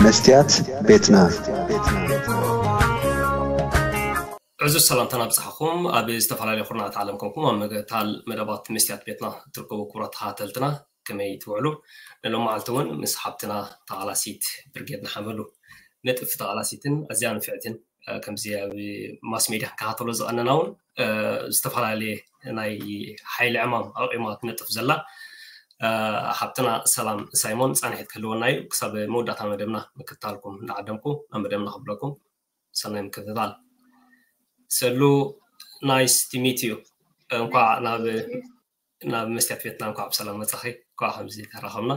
መስትያት ቤትና። ዕዙዝ ሰላምታና ኣብጽሓኹም። ኣብ ዝተፈላለዩ ኩርናዓት ዓለም ኮንኩም ኣብ ምክትታል መደባት መስትያት ቤትና እትርከቡ ክቡራት ተኸታተልትና፣ ከመይ ትውዕሉ? ንሎም መዓልቲ እውን ምስ ሓብትና ተቓላሲት ብርጌድ ንሓመዱ፣ ንጥፍቲ ተቓላሲትን ኣዝያ ንፍዕትን፣ እ፣ ከምዚ ኣብ ማስ ሜድያ ክንከታተሎ ዝቐነና እውን፣ እ፣ ዝተፈላለየ ናይ ሓይሊ ዕማም ኣቕሪማ ትነጥፍ ዘላ፣ እ፣ ሓብትና ሰላም ሳይሞን ጻንሒት ክህልወና እዩ። ክሳብ መወዳእታ መደብና ምክትታልኩም እንዳዓደምኩ ናብ መደብና ክብለኩም ሰናይ ምክትታል። ሰሉ፣ nice to meet you። እንኳዕ ናብ፣ ናብ መስትያት ቤትና እንኳዕ ብሰላም መጻኺ። እንኳዕ ከምዚ ተራኸብና።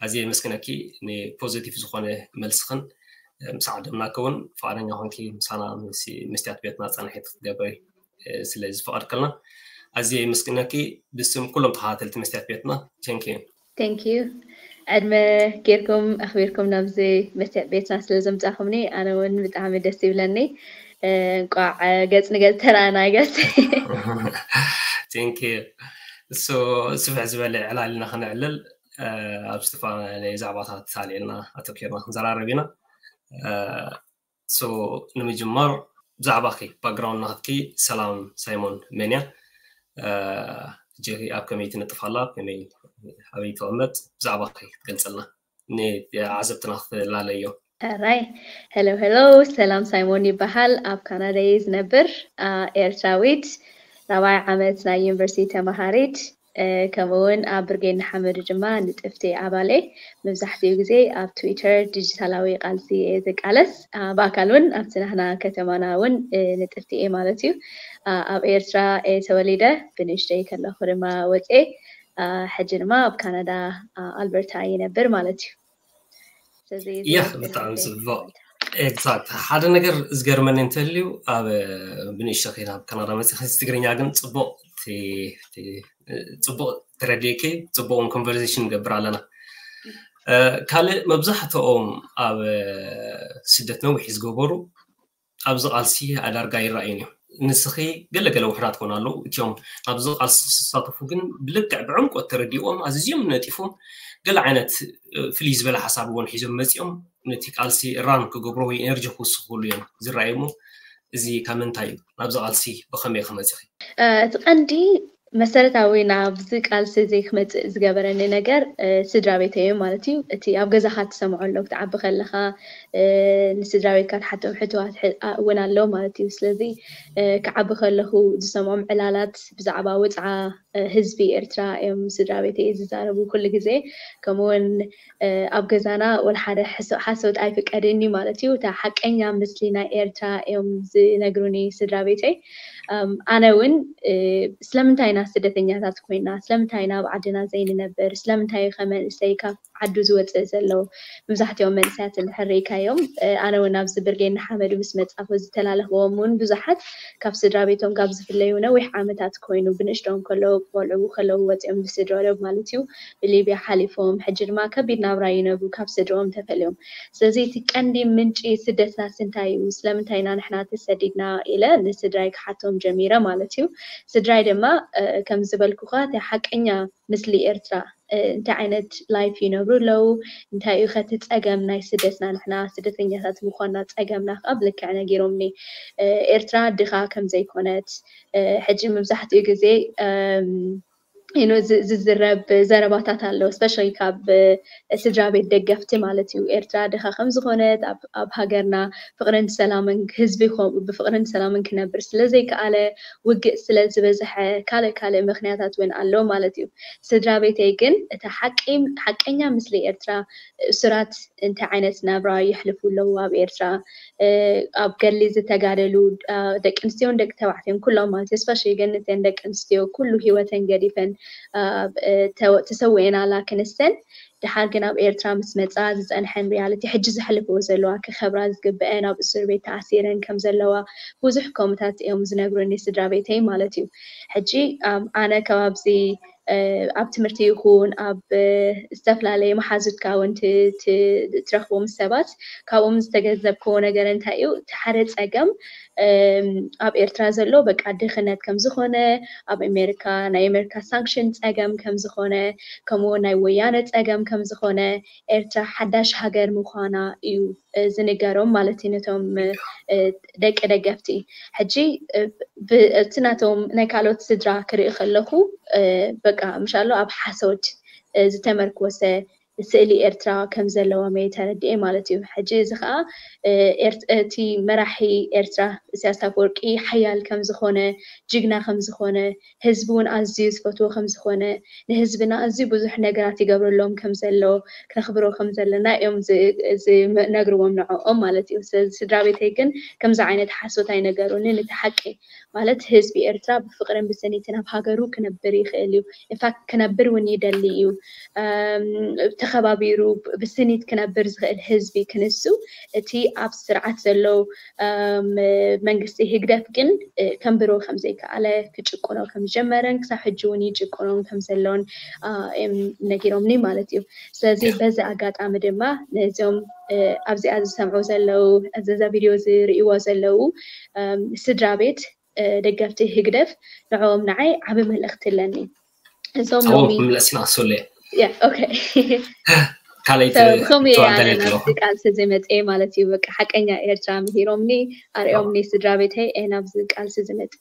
ኣዝየ የመስግነኪ ንፖዚቲቭ ዝኾነ መልስኽን፣ እ፣ ምስ ዓደምናኪ እውን ፍቓደኛ ኮንኪ ምሳና ምስ መስትያት ቤትና ጻንሒት ክትገብሪ፣ እ፣ ስለ ዝፈቐድክልና ኣዝየ የመስግነኪ ብስም ኩሎም ተኸታተልቲ መስትያት ቤትና። Thank you። Thank you። ዕድመ ጌርኩም ኣኽቢርኩም ናብዚ መስትያት ቤትና ስለ ዘምጻኹምኒ ኣነ እውን ብጣዕሚ ደስ ይብለኒ። እ፣ እንቋዕ፣ እ፣ ገጽ ንገጽ ተራእና ገጽ። Thank you። እሱ ስፍሕ ዝበለ ዕላልና ክነዕልል፣ እ፣ ኣብ ዝተፈላለየ ዛዕባታት ኣልዒልና ኣተኪርና ክንዘራረብ ኢና። እ፣ so ንምጅማር ብዛዕባኺ ባክግራውንድ ናትኪ ሰላም ሳይሞን መን እያ? እ፣ ሕጂ ኣብ ከመይ ትነጥፍ ኣላ? ከመይ ኣበይ ትቕመጥ? ብዛዕባኺ ክትገልጸልና ንዓዘብትና ክትላለዮ። ሕራይ። ሄሎ ሄሎ፣ ሰላም ሳይሞን ይበሃል። ኣብ ካናዳ እየ ዝነብር። አ፣ ኤርትራዊት፣ ራብዓይ ዓመት ናይ ዩኒቨርሲቲ ተመሃሪት፣ እ፣ ከምኡ እውን ኣብ ብርጌድ ንሓመዱ ድማ ንጥፍቲ ኣባል እየ። መብዛሕትኡ ግዜ ኣብ ትዊተር ዲጂታላዊ ቃልሲ እየ ዝቃለስ። አ፣ ብኣካል እውን ኣብቲ ናህና ከተማና እውን፣ እ፣ ንጥፍቲ እየ ማለት እዩ። አ፣ ኣብ ኤርትራ እየ ተወሊደ፣ ብንእሽተይ ከለኹ ድማ ወፅኤ። አ፣ ሕጂ ድማ ኣብ ካናዳ፣ አ፣ ኣልበርታ ይነብር ማለት እዩ። ስለዚ ያ፣ ዝነብር ብጣዕሚ ናተይ ጽቡቕ። ማለት እዩ። ኤግዛክት። ሓደ ነገር ዝገርመኒ እንተልዩ፣ ኣብ ብንእሽቶ ከይና ኣብ ካናዳ መጺኺ ትግርኛ ግን ጽቡቕ ቲ-፣ ቲ-፣ ጽቡቕ ተረዲእኪ፣ ጽቡቕ እውን ኮንቨርሴሽን ንገብር ኣለና። እ፣ ካልእ መብዛሕትኦም ኣብ ስደት ነዊሕ ዝገበሩ ኣብዚ ቃልሲ ኣዳርጋ ይረኣዩን እዮም። ንስኺ ገለገለ ውሑዳት ኮን ኣለዉ፣ እቲኦም ኣብዚ ቃልሲ ዝሳተፉ ግን ብልክዕ ብዕምቆት ተረዲእዎም ኣዝዮም ነጢፎም ገለ ዓይነት፣ እ፣ ፍልይ ዝበለ ሓሳብ እውን ሒዞም መጺኦም ነቲ ቃልሲ ራን ክገብሮ ወይ ኤነርጂ ክውስኽሉ እዮም ዝረኣዩ። እሞ እዚ ካብ ምንታይ እዩ? ናብዚ ቃልሲ ብኸመይ ኢኺ መጺኺ? እ፣ እቲ ቀንዲ መሰረታዊ ናብዚ ቃልሲ እዚ ክመጽእ ዝገበረኒ ነገር፣ እ፣ ስድራ ቤተይ እዮም ማለት እዩ። እቲ ኣብ ገዛኻ ትሰምዖ ኣሎ፣ ክትዓቢ ከለኻ፣ እ፣ ንስድራ ቤትካ ትሓቶም ሕቶታት ሕ-፣ ኣ-፣ እውን ኣሎ ማለት እዩ። ስለዚ፣ እ፣ ክዓቢ ከለኹ ዝሰምዖም ዕላላት ብዛዕባ ወጽዓ፣ እ፣ ህዝቢ ኤርትራ እዮም ስድራ ቤተይ ዝዛረቡ ኩሉ ግዜ። ከምኡውን፣ እ፣ ኣብ ገዛና ወላ ሓደ ሕሶ-፣ ሓሶት ኣይፍቀድን እዩ ማለት እዩ። እታ ሓቀኛ ምስሊ ናይ ኤርትራ እዮም ዝነግሩኒ ስድራ ቤተይ። ኣም፣ ኣነ እውን፣ እ፣ ስለምንታይ ኢና ስደተኛታት ኮይና? ስለምንታይ ኢና ኣብ ዓድና ዘይንነብር? ስለምንታይ እዩ ከ መንእሰይ ካብ ዓዱ ዝወፅእ ዘሎ? መብዛሕትኦም መንእሰያት እንድሕር ርኢካዮም፣ እ፣ ኣነ እውን ኣብዚ ብርጌድ ንሓመዱ ምስ መጻኹ ዝተላለኽዎም እውን ብዙሓት ካብ ስድራ ቤቶም ካብ ዝፍለዩ ነዊሕ ዓመታት ኮይኑ፣ ብንእሽቶም ከለዉ፣ ቆልዑ ከለዉ ወፂኦም ብስድርኦም ማለት እዩ፣ ብሊብያ ሓሊፎም፣ ሕጂ ድማ ከቢድ ናብራ ይነብሩ ካብ ስድርኦም ተፈልዮም። ስለዚ እቲ ቀንዲ ምንጪ ስደትናስ እንታይ እዩ? ስለምንታይ ኢና ንሕና ተሰዲድና? ኢለ ንስድራይ ክሓቶም ጀሚረ ማለት እዩ። ስድራይ ድማ፣ እ፣ ከም ዝበልኩኻ እቲ ሓቀኛ ምስሊ ኤርትራ፣ እ፣ እንታይ ዓይነት ላይፍ ይነብሩ ኣለዉ? እንታይ እዩ ከ እቲ ጸገም ናይ ስደትና? ንሕና ስደተኛታት ምዃንና ጸገምና ከኣ ብልክዕ ነጊሮምኒ። እ፣ ኤርትራ ድኻ ከም ዘይኮነት፣ እ፣ ሕጂ መብዛሕትኡ ግዜ፣ እም፣ you know፣ ዝ-፣ ዝዝረብ ዘረባታት ኣሎ፣ ስፔሻሊ ካብ፣ እ፣ ስድራ ቤት ደገፍቲ ማለት እዩ። ኤርትራ ድኻ ከም ዝኾነት፣ ኣብ፣ ኣብ ሃገርና ፍቕርን ሰላምን ህዝቢ ኮ-፣ ብፍቕርን ሰላምን ክነብር ስለ ዘይከኣለ፣ ውግእ ስለ ዝበዝሐ፣ ካልእ ካልእ ምኽንያታት እውን ኣሎ ማለት እዩ። ስድራ ቤተይ ግን እታ ሓቂ-፣ ሓቀኛ ምስሊ ኤርትራ፣ እሱራት እንታይ ዓይነት ናብራ የሕልፉ ኣለዉ ኣብ ኤርትራ፣ እ፣ ኣብ ገድሊ ዝተጋደሉ፣ እ፣ ደቂ ኣንስትዮን ደቂ ተባዕትዮን ኩሎም ማለት እዩ፣ ስፔሻሊ ግን እተን ደቂ ኣንስትዮ ኩሉ ህይወተን ገዲፈን፣ እ፣ እ፣ ተወ-፣ ተሰዊኤን ኣላ ክንሰን፣ ድሓር ግን ኣብ ኤርትራ ምስ መጻ ዝጸንሐን ሪያሊቲ፣ ሕጂ ዘሕልፍዎ ዘለዋ፣ ክኸብራ ዝግበአን፣ ኣብ እስር ቤት ተኣሲረን ከም ዘለዋ ብዙሕ ከምኡታት እዮም ዝነግሩኒ ስድራ ቤተይ ማለት እዩ። ሕጂ፣ ኣም፣ ኣነ ከባብዚ፣ እ፣ ኣብ ትምህርቲ ይኹን ኣብ፣ እ፣ ዝተፈላለየ መሓዙትካ እውን ት-፣ ት-፣ ትረኽቦም ሰባት፣ ካብኦም ዝተገንዘብክዎ ነገር እንታይ እዩ? እቲ ሓደ ጸገም፣ ኣብ ኤርትራ ዘሎ በቃ ድኽነት ከም ዝኾነ፣ ኣብ ኣሜሪካ ናይ ኣሜሪካ ሳንክሽን ጸገም ከም ዝኾነ፣ ከምኡ ናይ ወያነ ጸገም ከም ዝኾነ፣ ኤርትራ ሓዳሽ ሃገር ምዃና እዩ ዝንገሮም ማለት እዩ ነቶም ደቂ ደገፍቲ። ሕጂ እቲ ናቶም ናይ ካልኦት ስድራ ክርኢ ከለኹ በቃ ምሻሎ ኣብ ሓሶት ዝተመርኮሰ ስእሊ ኤርትራ ከም ዘለዎም እየ ተረዲኤ ማለት እዩ። ሕጂ እዚ ከዓ እቲ መራሒ ኤርትራ ኢሳያስ ኣፈወርቂ ሓያል ከም ዝኾነ፣ ጅግና ከም ዝኾነ፣ ህዝቢ እውን ኣዝዩ ዝፈትዎ ከም ዝኾነ፣ ንህዝብና ኣዝዩ ብዙሕ ነገራት ይገብረሎም ከም ዘሎ፣ ክነኽብሮ ከም ዘለና እዮም ዝነግርዎም ንዕኦም ማለት እዩ። ስለዚ ስድራ ቤተይ ግን ከምዚ ዓይነት ሓሶት ኣይነገሩንን። እቲ ሓቂ ማለት ህዝቢ ኤርትራ ብፍቕርን ብስኒትን ኣብ ሃገሩ ክነብር ይኽእል እዩ። ኢንፋክት ክነብር እውን ይደሊ እዩ። ተኸባቢሩ ብስኒት ክነብር ዝኽእል ህዝቢ ክንሱ እቲ ኣብ ስርዓት ዘሎ መንግስቲ ህግደፍ ግን ከንብሮ ከም ዘይከኣለ፣ ክጭቁኖ ከም ዝጀመረን ክሳብ ሕጂ እውን ይጭቁኖም ከም ዘሎን ነጊሮምኒ ማለት እዩ። ስለዚ በዚ ኣጋጣሚ ድማ ነዚኦም ኣብዚኣ ዝሰምዑ ዘለዉ፣ እዛ ቪድዮ ዝርእይዎ ዘለዉ ስድራ ቤት ደገፍቲ ህግደፍ ንዕኦም ንዓይ ዓቢ መልእኽቲ ኣለኒ። እዞም ሎሚ መለስና ሶሌ ኦኬ ካልኣይቲ ከምኡ እየ ተዋዳላይ ኣነ ኣለኹ ናብዚ ቃልሲ ዝመፅአ ማለት እዩ። በቃ ሓቀኛ ኤርትራ ምሂሮምኒ፣ ኣሪኦምኒ ስድራ ቤተይ እየ ናብዚ ቃልሲ ዝመፅእ።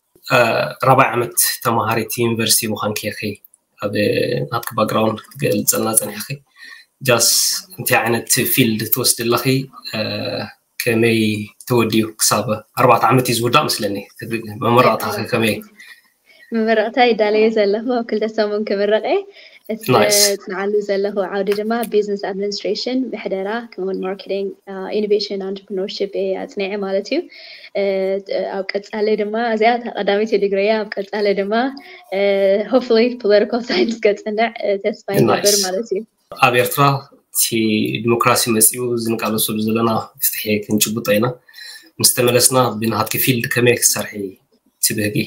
ራብዓይ ዓመት ተማሃሪት ዩኒቨርሲቲ ምዃንኪ ኢኺ ኣብ ናትኪ ባክግራውንድ ክትገልፀልና ፀኒሕኺ። ጃስ እንታይ ዓይነት ፊልድ ትወስዲ ኣለኺ? ከመይ ተወዲኡ ክሳብ ኣርባዕተ ዓመት እዩ ዝውዳእ መስለኒ። መመረቕታ ከመይ? መመረቕታ ይዳለየ ዘለኹ ኣብ ክልተ ሰሙን ክምረቐ። እቲ Nice. ዝፅንዓሉ ዘለኹ ዓውዲ ድማ ቢዝነስ ኣድሚኒስትሬሽን፣ ምሕደራ፣ ከምኡውን ማርኬቲንግ፣ ኢኖቬሽን፣ ኣንትርፕርነርሽፕ እየ ኣፅኒዐ ማለት እዩ። ኣብ ቀፃሊ ድማ እዚኣ እታ ቀዳመይቲ ዲግሪ እያ። ኣብ ቀፃሊ ድማ ሆፕፉሊ ፖለቲካል ሳይንስ ከፅንዕ ተስፋ ይገብር Nice. ማለት እዩ። ኣብ ኤርትራ እቲ ዲሞክራሲ መፂኡ ዝንቃለሰሉ ዘለና ፍትሒ ክንጭብጦ ኢና። ምስ ተመለስና ብናትኪ ፊልድ ከመይ ክትሰርሒ ትብህጊ?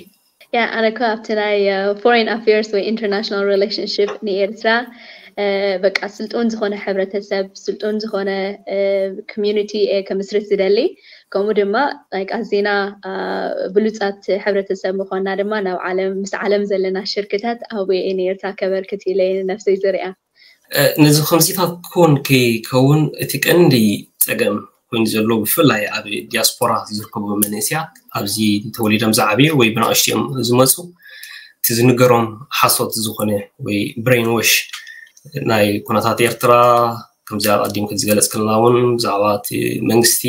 ያ ኣነ እኮ ኣብቲ ናይ ፎሬን ኣፌርስ ወይ ኢንተርናሽናል ሪሌሽንሽፕ ንኤርትራ በቃ ስልጡን ዝኾነ ሕብረተሰብ፣ ስልጡን ዝኾነ ኮሚዩኒቲ እየ ከምስርት ዝደሊ። ከምኡ ድማ ኣዚና ብሉፃት ሕብረተሰብ ምኳንና ድማ ናብ ዓለም ምስ ዓለም ዘለና ሽርክታት ኣብኡ እየ ንኤርትራ ከበርክት ኢለ እየ ንነፍሰይ ዝሪኣ። ነዚ ከምዚታት ክውን ከይከውን እቲ ቀንዲ ፀገም ኮይኑ ዘሎ ብፍላይ ኣብ ዲያስፖራ ዝርከቡ መንእስያት ኣብዚ ተወሊዶም ዝዓብዩ ወይ ብናእሽትኦም ዝመፁ እቲ ዝንገሮም ሓሶት ዝኾነ ወይ ብሬን ዎሽ ናይ ኩነታት ኤርትራ ከምዚ ኣቐዲምኪ ዝገለፅክልና እውን ብዛዕባ እቲ መንግስቲ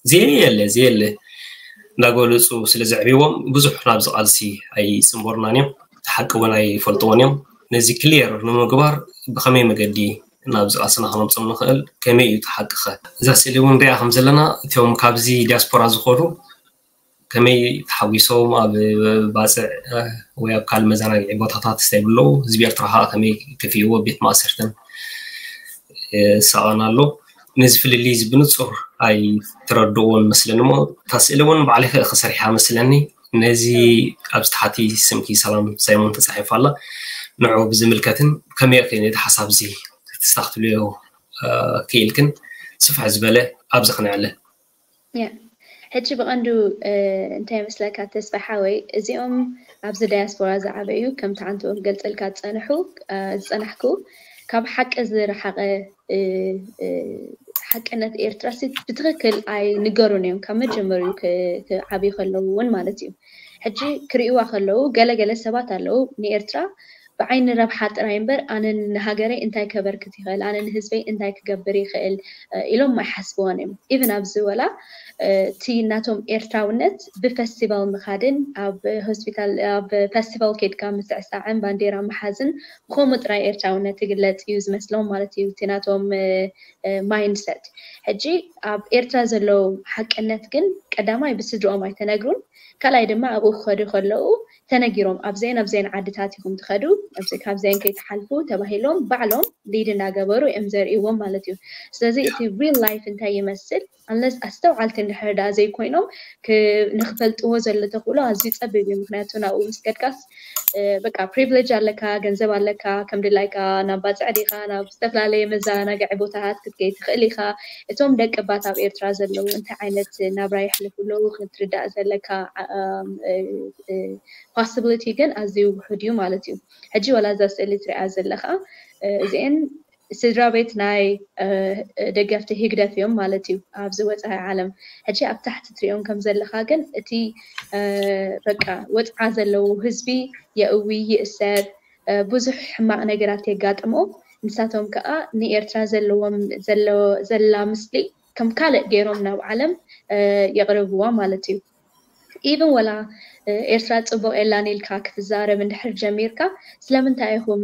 ዘየለ ዘየለ እንዳገለፁ ስለ ዘዕብዎም ብዙሕ ናብዚ ቃልሲ ኣይፅንበሩናን እዮም። እቲ ሓቂ እውን ኣይፈልጥዎን እዮም። ነዚ ክሊየር ንምግባር ብኸመይ መገዲ ናብዚ ቃልስና ከነምፅኦም ንኽእል? ከመይ እዩ እቲ ሓቂ ኸ? እዛ ስእሊ እውን ንሪኣ ከም ዘለና እቶም ካብዚ ዲያስፖራ ዝኾዱ ከመይ ተሓጒሶም ኣብ ባፅዕ ወይ ኣብ ካልእ መዘናግዒ ቦታታት እንታይ ብለዉ ህዝቢ ኤርትራ ከዓ ከመይ ከፊእዎ ቤት ማእሰርትን ይሳቐን ኣሎ። ነዚ ፍልልይ እዚ ብንፁር ኣይተረድእዎን መስለኒ እሞ እታ ስእሊ እውን ባዕልኺ ኢኺ ሰሪሓ መስለኒ። ነዚ ኣብዚ ታሕቲ ስምኪ ሰላም ሳይሞን ተፃሒፋ ኣላ። ንዑ ብዝምልከትን ከመይ ኢኺ ነቲ ሓሳብ እዚ ክተስተኻኽልዮ ክኢልክን ስፍሕ ዝበለ ኣብዚ ክነዕልል። ሕጂ ብቐንዱ እንታይ ይመስለካ ተስፋ ሓወይ፣ እዚኦም ኣብዚ ዳያስፖራ ዝዓበዩ ከምቲ ሓንቲ ክገልፀልካ ዝፀንሑ ዝፀናሕኩ ካብ ሓቂ ዝረሓቐ ሓቅነት ኤርትራ ብትኽክል ኣይንገሩን እዮም ካብ መጀመሪኡ ክዓብዩ ከለዉ እውን ማለት እዩ። ሕጂ ክርእይዋ ከለዉ ገለገለ ሰባት ኣለዉ ንኤርትራ ብዓይኒ ረብሓ ጥራይ እምበር ኣነ ንሃገረይ እንታይ ከበርክት ይኽእል፣ ኣነ ንህዝበይ እንታይ ክገብር ይኽእል ኢሎም ኣይሓስብዎን እዮም። ኢቭን ኣብዚ ወላ እቲ ናቶም ኤርትራውነት ብፈስቲቫል ምኻድን ኣብ ሆስፒታል ኣብ ፈስቲቫል ኬድካ ምስዕሳዕን ባንዴራ ምሓዝን ብኸምኡ ጥራይ ኤርትራውነት ትግለፅ እዩ ዝመስሎም ማለት እዩ እቲ ናቶም ማይንድሰት። ሕጂ ኣብ ኤርትራ ዘለዉ ሓቅነት ግን ቀዳማይ ብስድርኦም ኣይተነግሩን፣ ካልኣይ ድማ ኣብኡ ክኸዱ ከለዉ ተነጊሮም ኣብዘን ኣብዘን ዓድታት ኢኹም ትኸዱ ኣብዚ ካብዚአን ከይትሓልፉ ተባሂሎም ባዕሎም ሊድ እናገበሩ እዮም ዘርእዎም ማለት እዩ። ስለዚ እቲ ሪል ላይፍ እንታይ ይመስል፣ ኣንለስ ኣስተውዓልቲ እንድሕር ደኣ ዘይኮይኖም ንክፈልጥዎ ዘሎ ተኽእሎ ኣዝዩ ፀቢብ እዩ። ምክንያቱ ናብኡ ምስ ከድካስ በቃ ፕሪቪሌጅ ኣለካ፣ ገንዘብ ኣለካ፣ ከም ድላይካ ናብ ባፅዕ ዲኻ ናብ ዝተፈላለየ መዘናግዒ ቦታታት ክትከይ ትኽእል ኢኻ። እቶም ደቂ ባት ኣብ ኤርትራ ዘለዉ እንታይ ዓይነት ናብራ የሕልፉ ኣለዉ ክትርዳእ ዘለካ ፖስብሊቲ ግን ኣዝዩ ውሑድ እዩ ማለት እዩ። ሕጂ ዋላ እዛ ስእሊ ትሪኣ ዘለኻ እዚአን ስድራ ቤት ናይ ደገፍቲ ህግደፍ እዮም ማለት እዩ ኣብዚ ወፃኢ ዓለም። ሕጂ ኣብ ታሕቲ ትሪኦም ከም ዘለኻ ግን እቲ በቃ ወፅዓ ዘለዉ ህዝቢ የእዊ፣ ይእሰር፣ ብዙሕ ሕማቕ ነገራት የጋጥሞ። ንሳቶም ከዓ ንኤርትራ ዘለዎም ዘላ ምስሊ ከም ካልእ ገይሮም ናብ ዓለም የቕርብዋ ማለት እዩ። ኢቨን ወላ ኤርትራ ፅቡቕ የላን ኢልካ ክትዛረብ እንድሕር ጀሚርካ ስለምንታይ ኢኹም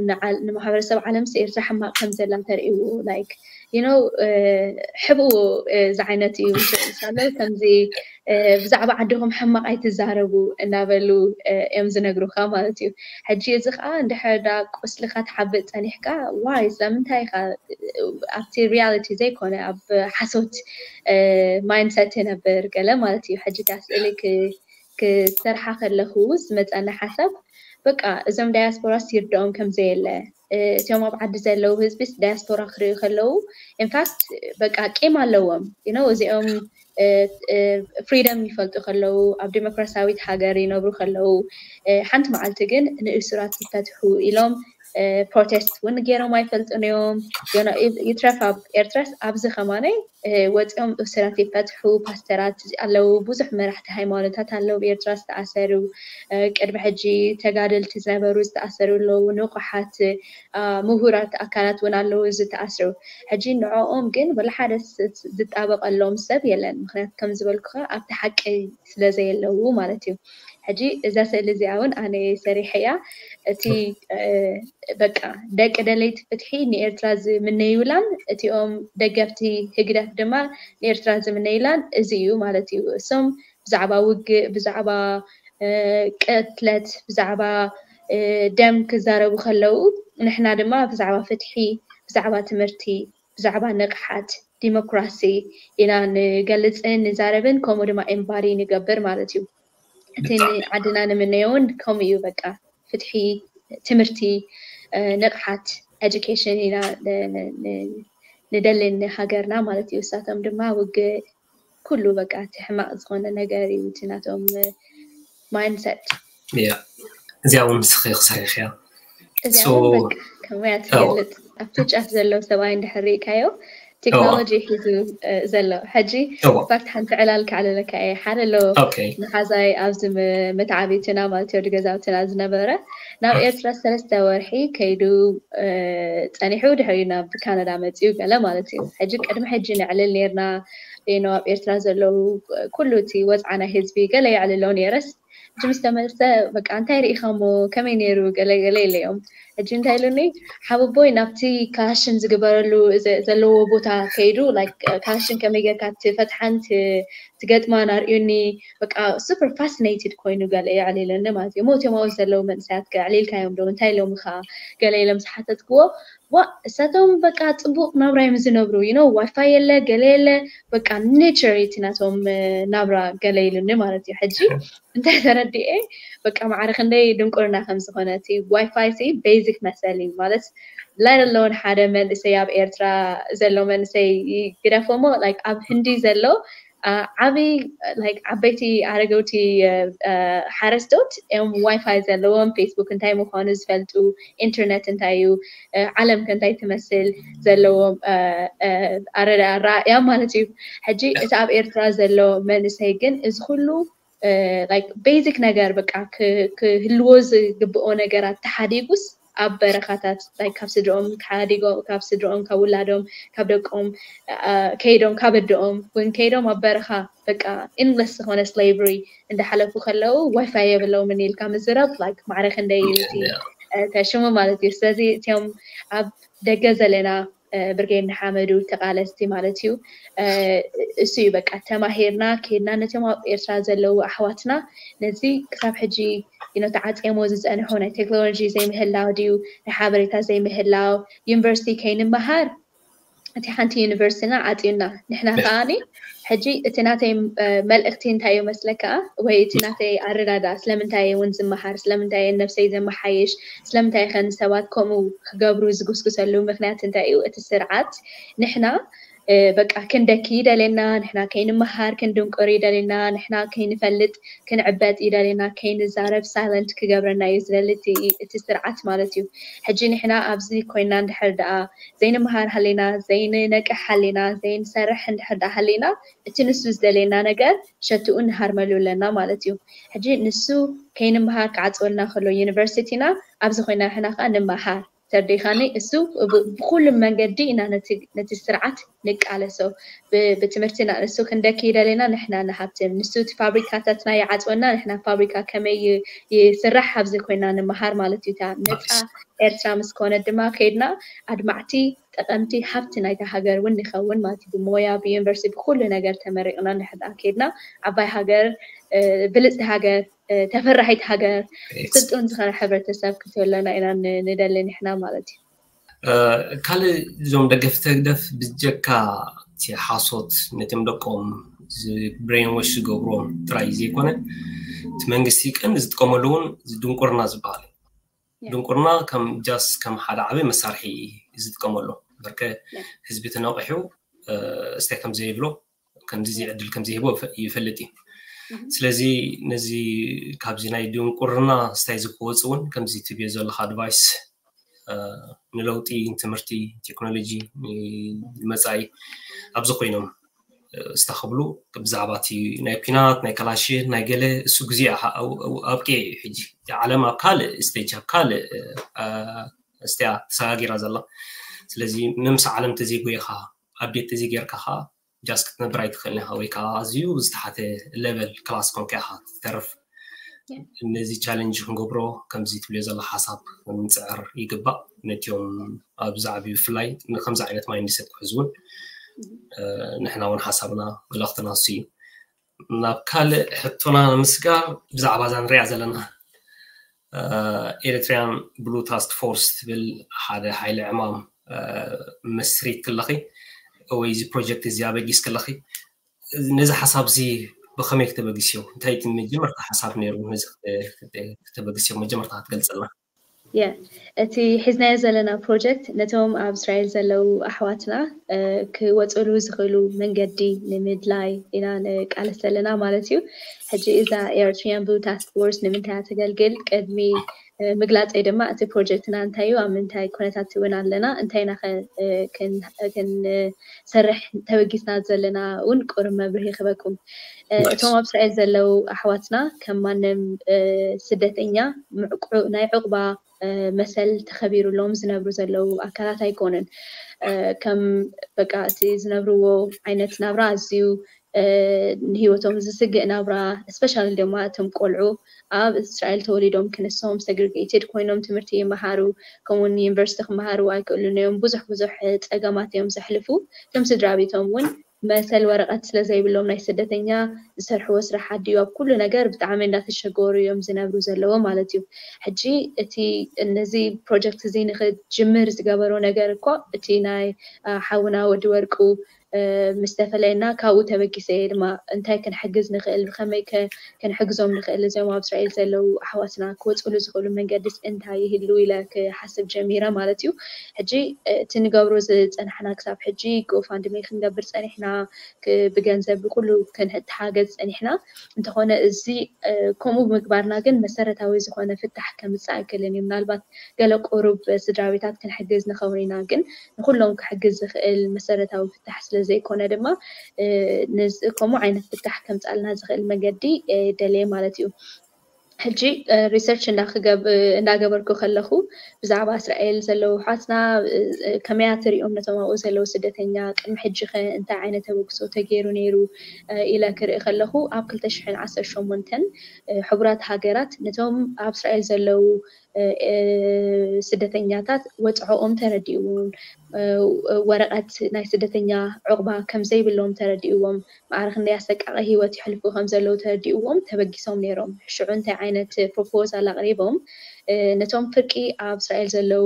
ንማሕበረሰብ ዓለምስ ኤርትራ ሕማቕ ከም ዘላ ተርእይዎ? ላይክ ዩ ኖ ሕብኡ ዝዓይነት እዩ። ሳለ ከምዚ ብዛዕባ ዓድኹም ሕማቕ ኣይትዛረቡ እናበሉ እዮም ዝነግሩካ ማለት እዩ። ሕጂ እዚ ከዓ እንድሕር ዳ ቁስልካ ትሓብእ ፀኒሕካ ዋይ ስለምንታይ ኢኻ ኣብቲ ሪያሊቲ ዘይኮነ ኣብ ሓሶት ማይንድሰት ይነብር ገለ ማለት እዩ። ሕጂ እታ ስእሊ ክሰርሓ ከለኹ ዝመፀኒ ሓሳብ በቃ እዞም ዳያስፖራስ ይርድኦም ከም ዘየለ እቲኦም ኣብ ዓዲ ዘለዉ ህዝቢስ ዳያስፖራ ክርእዩ ከለዉ ኢንፋክት በቃ ቂም ኣለዎም ዩ ኖ እዚኦም ፍሪደም ይፈልጡ ከለዉ ኣብ ዲሞክራሲያዊት ሃገር ይነብሩ ከለዉ ሓንቲ መዓልቲ ግን ንእሱራት ይፈትሑ ኢሎም ፕሮቴስት እውን ገይሮም ኣይፈልጡን እዮም። ይትረፍ ኣብ ኤርትራስ ኣብዚ ከማነይ ወፂኦም እሱራት ይፈትሑ ፓስተራት ኣለዉ፣ ብዙሕ መራሕቲ ሃይማኖታት ኣለዉ ኤርትራ ዝተኣሰሩ ቅድሚ ሕጂ ተጋደልቲ ዝነበሩ ዝተኣሰሩ ኣለዉ፣ ንቑሓት ምሁራት ኣካላት እውን ኣለዉ ዝተኣስሩ። ሕጂ ንዕኦም ግን ወላ ሓደ ዝጣበቐሎም ሰብ የለን። ምክንያቱ ከም ዝበልኩኻ ኣብቲ ሓቂ ስለ ዘየለዉ ማለት እዩ። ሕጂ እዛ ስእሊ እዚኣ እውን ኣነ ሰሪሐያ እቲ በቃ ደቂ ደለይቲ ፍትሒ ንኤርትራ ዝምነዩላን እቲኦም ደገፍቲ ህግደፍ ድማ ንኤርትራ ዝምነዩላን እዚ እዩ ማለት እዩ። እሶም ብዛዕባ ውግእ፣ ብዛዕባ ቅትለት፣ ብዛዕባ ደም ክዛረቡ ከለዉ ንሕና ድማ ብዛዕባ ፍትሒ፣ ብዛዕባ ትምህርቲ፣ ብዛዕባ ንቕሓት ዲሞክራሲ ኢና ንገልፅን ንዛረብን ከምኡ ድማ ኤምባዲ ንገብር ማለት እዩ። እቲ ንዓድና ንምነዮ እውን ከምኡ እዩ። በቃ ፍትሒ፣ ትምህርቲ፣ ንቕሓት፣ ኤጁኬሽን ኢና ንደሊ ንሃገርና ማለት እዩ። እሳቶም ድማ ውግእ ኩሉ በቃ እቲ ሕማቕ ዝኾነ ነገር እዩ እቲ ናቶም ማይንድሰት። እዚኣ እውን ንስኺ ክሰሪሕያ እዚኣ እውን በቃ ከመያ ትገልፅ ኣብቲ ጫፍ ዘሎ ሰብኣይ እንድሕር ርኢካዮ ቴክኖሎጂ ሒዙ ዘሎ ሕጂ ፋክት ሓንቲ ዕላል ከዕልለካ እየ ሓደ ኣሎ ንሓዛይ ኣብዚ መተዓቢትና ማለት እዩ ገዛውትና ዝነበረ ናብ ኤርትራ ሰለስተ ወርሒ ከይዱ ፀኒሑ ድሕሪ ናብ ካናዳ መፅኡ ገለ ማለት እዩ ሕጂ ቅድሚ ሕጂ ነዕልል ነርና ኖ ኣብ ኤርትራ ዘለዉ ኩሉ እቲ ወፅዓ ናይ ህዝቢ ገለ የዕልሎ ነረስ ሕጂ ምስ ተመልሰ በቃ እንታይ ርኢኻ እሞ ከመይ ነይሩ ገለ ገለ ኢለዮም ሕጂ እንታይ ኢሉኒ ሓወቦይ ናብቲ ካሽን ዝግበረሉ ዘለዎ ቦታ ከይዱ ካሽን ከመይ ጌርካ ትፈትሓን ትገጥማን ኣርእዩኒ በቃ ሱፐር ፋሲኔትድ ኮይኑ ገለ የዕሊሉኒ ማለት እዩ ሞት ዮማዊ ዘለዉ መንእሰያት ከዕሊልካዮም ዶ እንታይ ኢሎምኻ ገለ ኢሎም ዝሓተትክዎ ዋ እሳቶም በቃ ፅቡቅ ናብራ እዮም ዝነብሩ ዩ ኖ ዋይፋይ የለ ገለ የለ በቃ ኔቸር እቲ ናቶም ናብራ ገለ ኢሉኒ ማለት እዩ ሕጂ እንታይ ተረዲኤ በቃ ማዕረ ክንደይ ድንቁርና ከም ዝኾነ እቲ ዋይፋይ ሲ ቤዚክ መሰል እዩ ማለት ላይለለውን ሓደ መንእሰይ ኣብ ኤርትራ ዘሎ መንእሰይ ግደፎሞ ኣብ ህንዲ ዘሎ ዓብይ ዓበይቲ ኣረገውቲ ሓረስቶት እዮም ዋይፋይ ዘለዎም ፌስቡክ እንታይ ምኳኑ ዝፈልጡ ኢንተርነት እንታይ እዩ ዓለም ከ እንታይ ትመስል ዘለዎም ኣረዳእያ ማለት እዩ ሕጂ እቲ ኣብ ኤርትራ ዘሎ መንእሰይ ግን እዚ ኩሉ ቤዚክ ነገር በቃ ክህልዎ ዝግብኦ ነገራት ተሓዲጉስ ኣብ በረኻታት ካብ ስድርኦም ተሓዲጎም ካብ ስድርኦም ካብ ውላዶም ካብ ደቆም ከይዶም ካብ ኣደኦም እውን ከይዶም ኣብ በረኻ በቃ ኢንድለስ ዝኾነ ስሌቨሪ እንዳሓለፉ ከለዉ ዋይፋይ የብለውምን ኢልካ ምዝራብ ማዕረ ክንደይ ተሽሙ ማለት እዩ ስለዚ እቲኦም ኣብ ደገ ዘለና ብርጌድ ንሓመዱ ተቓለስቲ ማለት እዩ። እሱ እዩ በቃ ተማሂርና ከይድና ነቶም ኣብ ኤርትራ ዘለዉ ኣሕዋትና ነዚ ክሳብ ሕጂ ተዓፅየሞ ዝፀንሑ ናይ ቴክኖሎጂ ዘይምህላው ድዩ ናይ ሓበሬታ ዘይምህላው ዩኒቨርሲቲ ከይንመሃር እቲ ሓንቲ ዩኒቨርሲቲና ዓፅዩና ንሕና ከዓኒ ሕጂ እቲ ናተይ መልእክቲ እንታይ እዩ መስለካ ወይ እቲ ናተይ ኣረዳዳ ስለምንታይ እውን ዝመሃር ስለምንታይ ነብሰይ ዘመሓየሽ ስለምንታይ ከን ሰባት ከምኡ ክገብሩ ዝጉስጉሰሉ ምክንያት እንታይ እዩ እቲ ስርዓት ንሕና በቃ ክንደኪ ይደልየና ንሕና ከይንመሃር ክንድንቆር ይደልየና ንሕና ከይንፈልጥ ክንዕበጥ ይደልየና ከይንዛረብ ሳይለንት ክገብረና እዩ ዝደሊ እቲ ስርዓት ማለት እዩ ሕጂ ንሕና ኣብዚ ኮይና እንድሕር ደኣ ዘይንመሃር ሃሊና ዘይንነቅሕ ሃሊና ዘይንሰርሕ እንድሕር ደኣ ሃሊና እቲ ንሱ ዝደልየና ነገር ሸትኡ ንሃርመሉ ኣለና ማለት እዩ ሕጂ ንሱ ከይንመሃር ክዓፅወልና ከሎ ዩኒቨርሲቲና ኣብዚ ኮይና ንሕና ከዓ ንመሃር ተርዲኻኒ እሱ ብኩሉ መንገዲ ኢና ነቲ ስርዓት ንቃለሶ ብትምህርትና ንሱ ክንደኪ ይደለና ንሕና ንሃብትም ንሱ እቲ ፋብሪካታትና ይዓፅወና ንሕና ፋብሪካ ከመይ ይስራሕ ኣብዚ ኮይና ንምሃር ማለት እዩ ነፃ ኤርትራ ምስ ኮነ ድማ ከይድና ኣድማዕቲ ጠቐምቲ ሃብቲ ናይታ ሃገር እውን ንኸውን ማለት እዩ ብሞያ ብዩኒቨርሲቲ ብኩሉ ነገር ተመሪቕና ንሕዳ ከይድና ዓባይ ሃገር ብልፅቲ ሃገር ተፈራሒት ሃገር ስልጡን ዝኾነ ሕብረተሰብ ክትህለና ኢና ንደሊ ንሕና ማለት እዩ ካልእ እዞም ደገፍቲ ህግደፍ ብጀካ እቲ ሓሶት ነቶም ደቆም ብሬንወሽ ዝገብርዎም ጥራይ ዘይኮነ እቲ መንግስቲ ቀንዲ ዝጥቀመሉ እውን ድንቁርና ዝበሃል እዩ ድንቁርና ከም ጃስ ከም ሓደ ዓበይ መሳርሒ እዩ ዝጥቀመሉ በርከ ህዝቢ ተነቂሑ እስታይ ከም ዘይብሎ ከምዚ ዕድል ከም ዘይህቦ ይፈልጥ እዩ ስለዚ ነዚ ካብዚ ናይ ድንቁርና ስታይ ዝክወፅ እውን ከምዚ ትብዮ ዘለካ ኣድቫይስ ንለውጢ ትምህርቲ ቴክኖሎጂ ንመፃኢ ኣብዚ ኮይኖም ስታ ክብሉ ብዛዕባ እቲ ናይ ኩናት ናይ ከላሽን ናይ ገለ እሱ ግዜ ኣብቂ እዩ ሕጂ ዓለም ኣብ ካልእ ስቴጅ ኣብ ካልእ እስትያ ተሰጋጊራ ዘላ ስለዚ መምስ ዓለም ተዘይጎይኻ ኣቤት ተዘይጌርካ ከዓ ጃስ ክትነብር ኣይትኽእልን ኢኻ ወይ ከዓ ኣዝዩ ዝተሓተ ሌቨል ክላስ ኮንካ ኢኻ ትተርፍ ነዚ ቻለንጅ ክንገብሮ ከምዚ ትብልዮ ዘሎ ሓሳብ ክንፅዕር ይግባእ ነቲኦም ኣብ ዛዕቢ ብፍላይ ንከምዚ ዓይነት ማይንድሰት ክሕዝ እውን ንሕና እውን ሓሳብና መልእኽትና እሱ እዩ ናብ ካልእ ሕቶና ንምስጋር ብዛዕባ እዛ ንሪኣ ዘለና ኤሪትሪያን ብሉ ታስክ ፎርስ ትብል ሓደ ሓይሊ ዕማም መስሪት ክለኺ ወይ እዚ ፕሮጀክት እዚ ኣበጊስ ክለኺ ነዚ ሓሳብ እዚ ብኸመይ ክተበግስዮ እንታይ እቲ መጀመርታ ሓሳብ ነይሩ ነዚ ክተበግስዮ መጀመርታ ክትገልፅልና የ እቲ ሒዝናዮ ዘለና ፕሮጀክት ነቶም ኣብ እስራኤል ዘለዉ ኣሕዋትና ክወፅሉ ዝኽእሉ መንገዲ ንምድላይ ኢና ንቃለስ ዘለና ማለት እዩ ሕጂ እዛ ኤርትሪያን ብሉ ታስክ ፎርስ ንምንታይ ተገልግል ቅድሚ ምግላፀይ ድማ እቲ ፕሮጀክትና እንታይ እዩ ኣብ ምንታይ ኩነታት እውን ኣለና እንታይ ኢና ክንሰርሕ ተበጊስና ዘለና እውን ቁርብ መብርሂ ክበኩም እቶም ኣብ እስራኤል ዘለዉ ኣሕዋትና ከም ማንም ስደተኛ ናይ ዕቁባ መሰል ተኸቢሩሎም ዝነብሩ ዘለዉ ኣካላት ኣይኮኑን ከም በቃ እቲ ዝነብርዎ ዓይነት ናብራ ኣዝዩ ንህይወቶም ዝስግእ ናብራ especially ድማ እቶም ቆልዑ ኣብ እስራኤል ተወሊዶም ክንሶም segregated ኮይኖም ትምህርቲ ይመሃሩ ከምኡውን ዩኒቨርሲቲ ክመሃሩ ኣይክእሉን እዮም ብዙሕ ብዙሕ ፀገማት እዮም ዘሕልፉ እቶም ስድራ ቤቶም እውን መሰል ወረቐት ስለ ዘይብሎም ናይ ስደተኛ ዝሰርሕዎ ስራሕ ዓዲ ኣብ ኩሉ ነገር ብጣዕሚ እንዳተሸገሩ እዮም ዝነብሩ ዘለዎ ማለት እዩ ሕጂ እቲ ነዚ ፕሮጀክት እዚ ንክጅምር ዝገበሮ ነገር እኮ እቲ ናይ ሓውና ወዲ ወርቁ ምስ ተፈለየና ካብኡ ተበጊሰ እየ ድማ እንታይ ክንሕግዝ ንኽእል ብኸመይ ክንሕግዞም ንኽእል እዚኦም ኣብ እስራኤል ዘለዉ ኣሕዋትና ክወፅሉ ዝኽእሉ መንገድስ እንታይ ይህሉ ኢለ ክሓስብ ጀሚረ ማለት እዩ ሕጂ እቲ ንገብሮ ዝፀናሕና ክሳብ ሕጂ ጎፋንድሜ ክንገብር ፀኒሕና ብገንዘብ ብኩሉ ክንተሓገዝ ፀኒሕና እንተኾነ እዚ ከምኡ ብምግባርና ግን መሰረታዊ ዝኾነ ፍታሕ ከምፅእ ኣይክእልን እዩ ምናልባት ገለ ቁሩብ ስድራ ቤታት ክንሕግዝ ንኸውን ኢና ግን ንኩሎም ክሕግዝ ዝኽእል መሰረታዊ ፍታሕ ስለ ዘይኮነ ድማ ከምኡ ዓይነት ፍታሕ ከምፃልና ዝኽእል መንገዲ ደልየ ማለት እዩ ሕጂ ሪሰርች እንዳገበርኩ ከለኹ ብዛዕባ እስራኤል ዘለዉ ሓትና ከመያ ትሪኦም ነቶም ኣብኡ ዘለዉ ስደተኛ ቅድሚ ሕጂ ከ እንታይ ዓይነት ተበግሶ ተገይሩ ነይሩ ኢለ ክርኢ ከለኹ ኣብ ክልተ ሽሕን ዓሰርተ ሸሞንተን ሕቡራት ሃገራት ነቶም ኣብ እስራኤል ዘለዉ ስደተኛታት ወፅዖኦም ተረዲእዎም፣ ወረቐት ናይ ስደተኛ ዕቑባ ከም ዘይብሎም ተረዲእዎም፣ ማዕረ ክንደይ ኣሰቃቂ ህይወት ይሕልፉ ከም ዘለዉ ተረዲእዎም ተበጊሶም ነይሮም። ሽዑ እንታይ ዓይነት ፕሮፖዛል ኣቕሪቦም? ነቶም ፍርቂ ኣብ እስራኤል ዘለዉ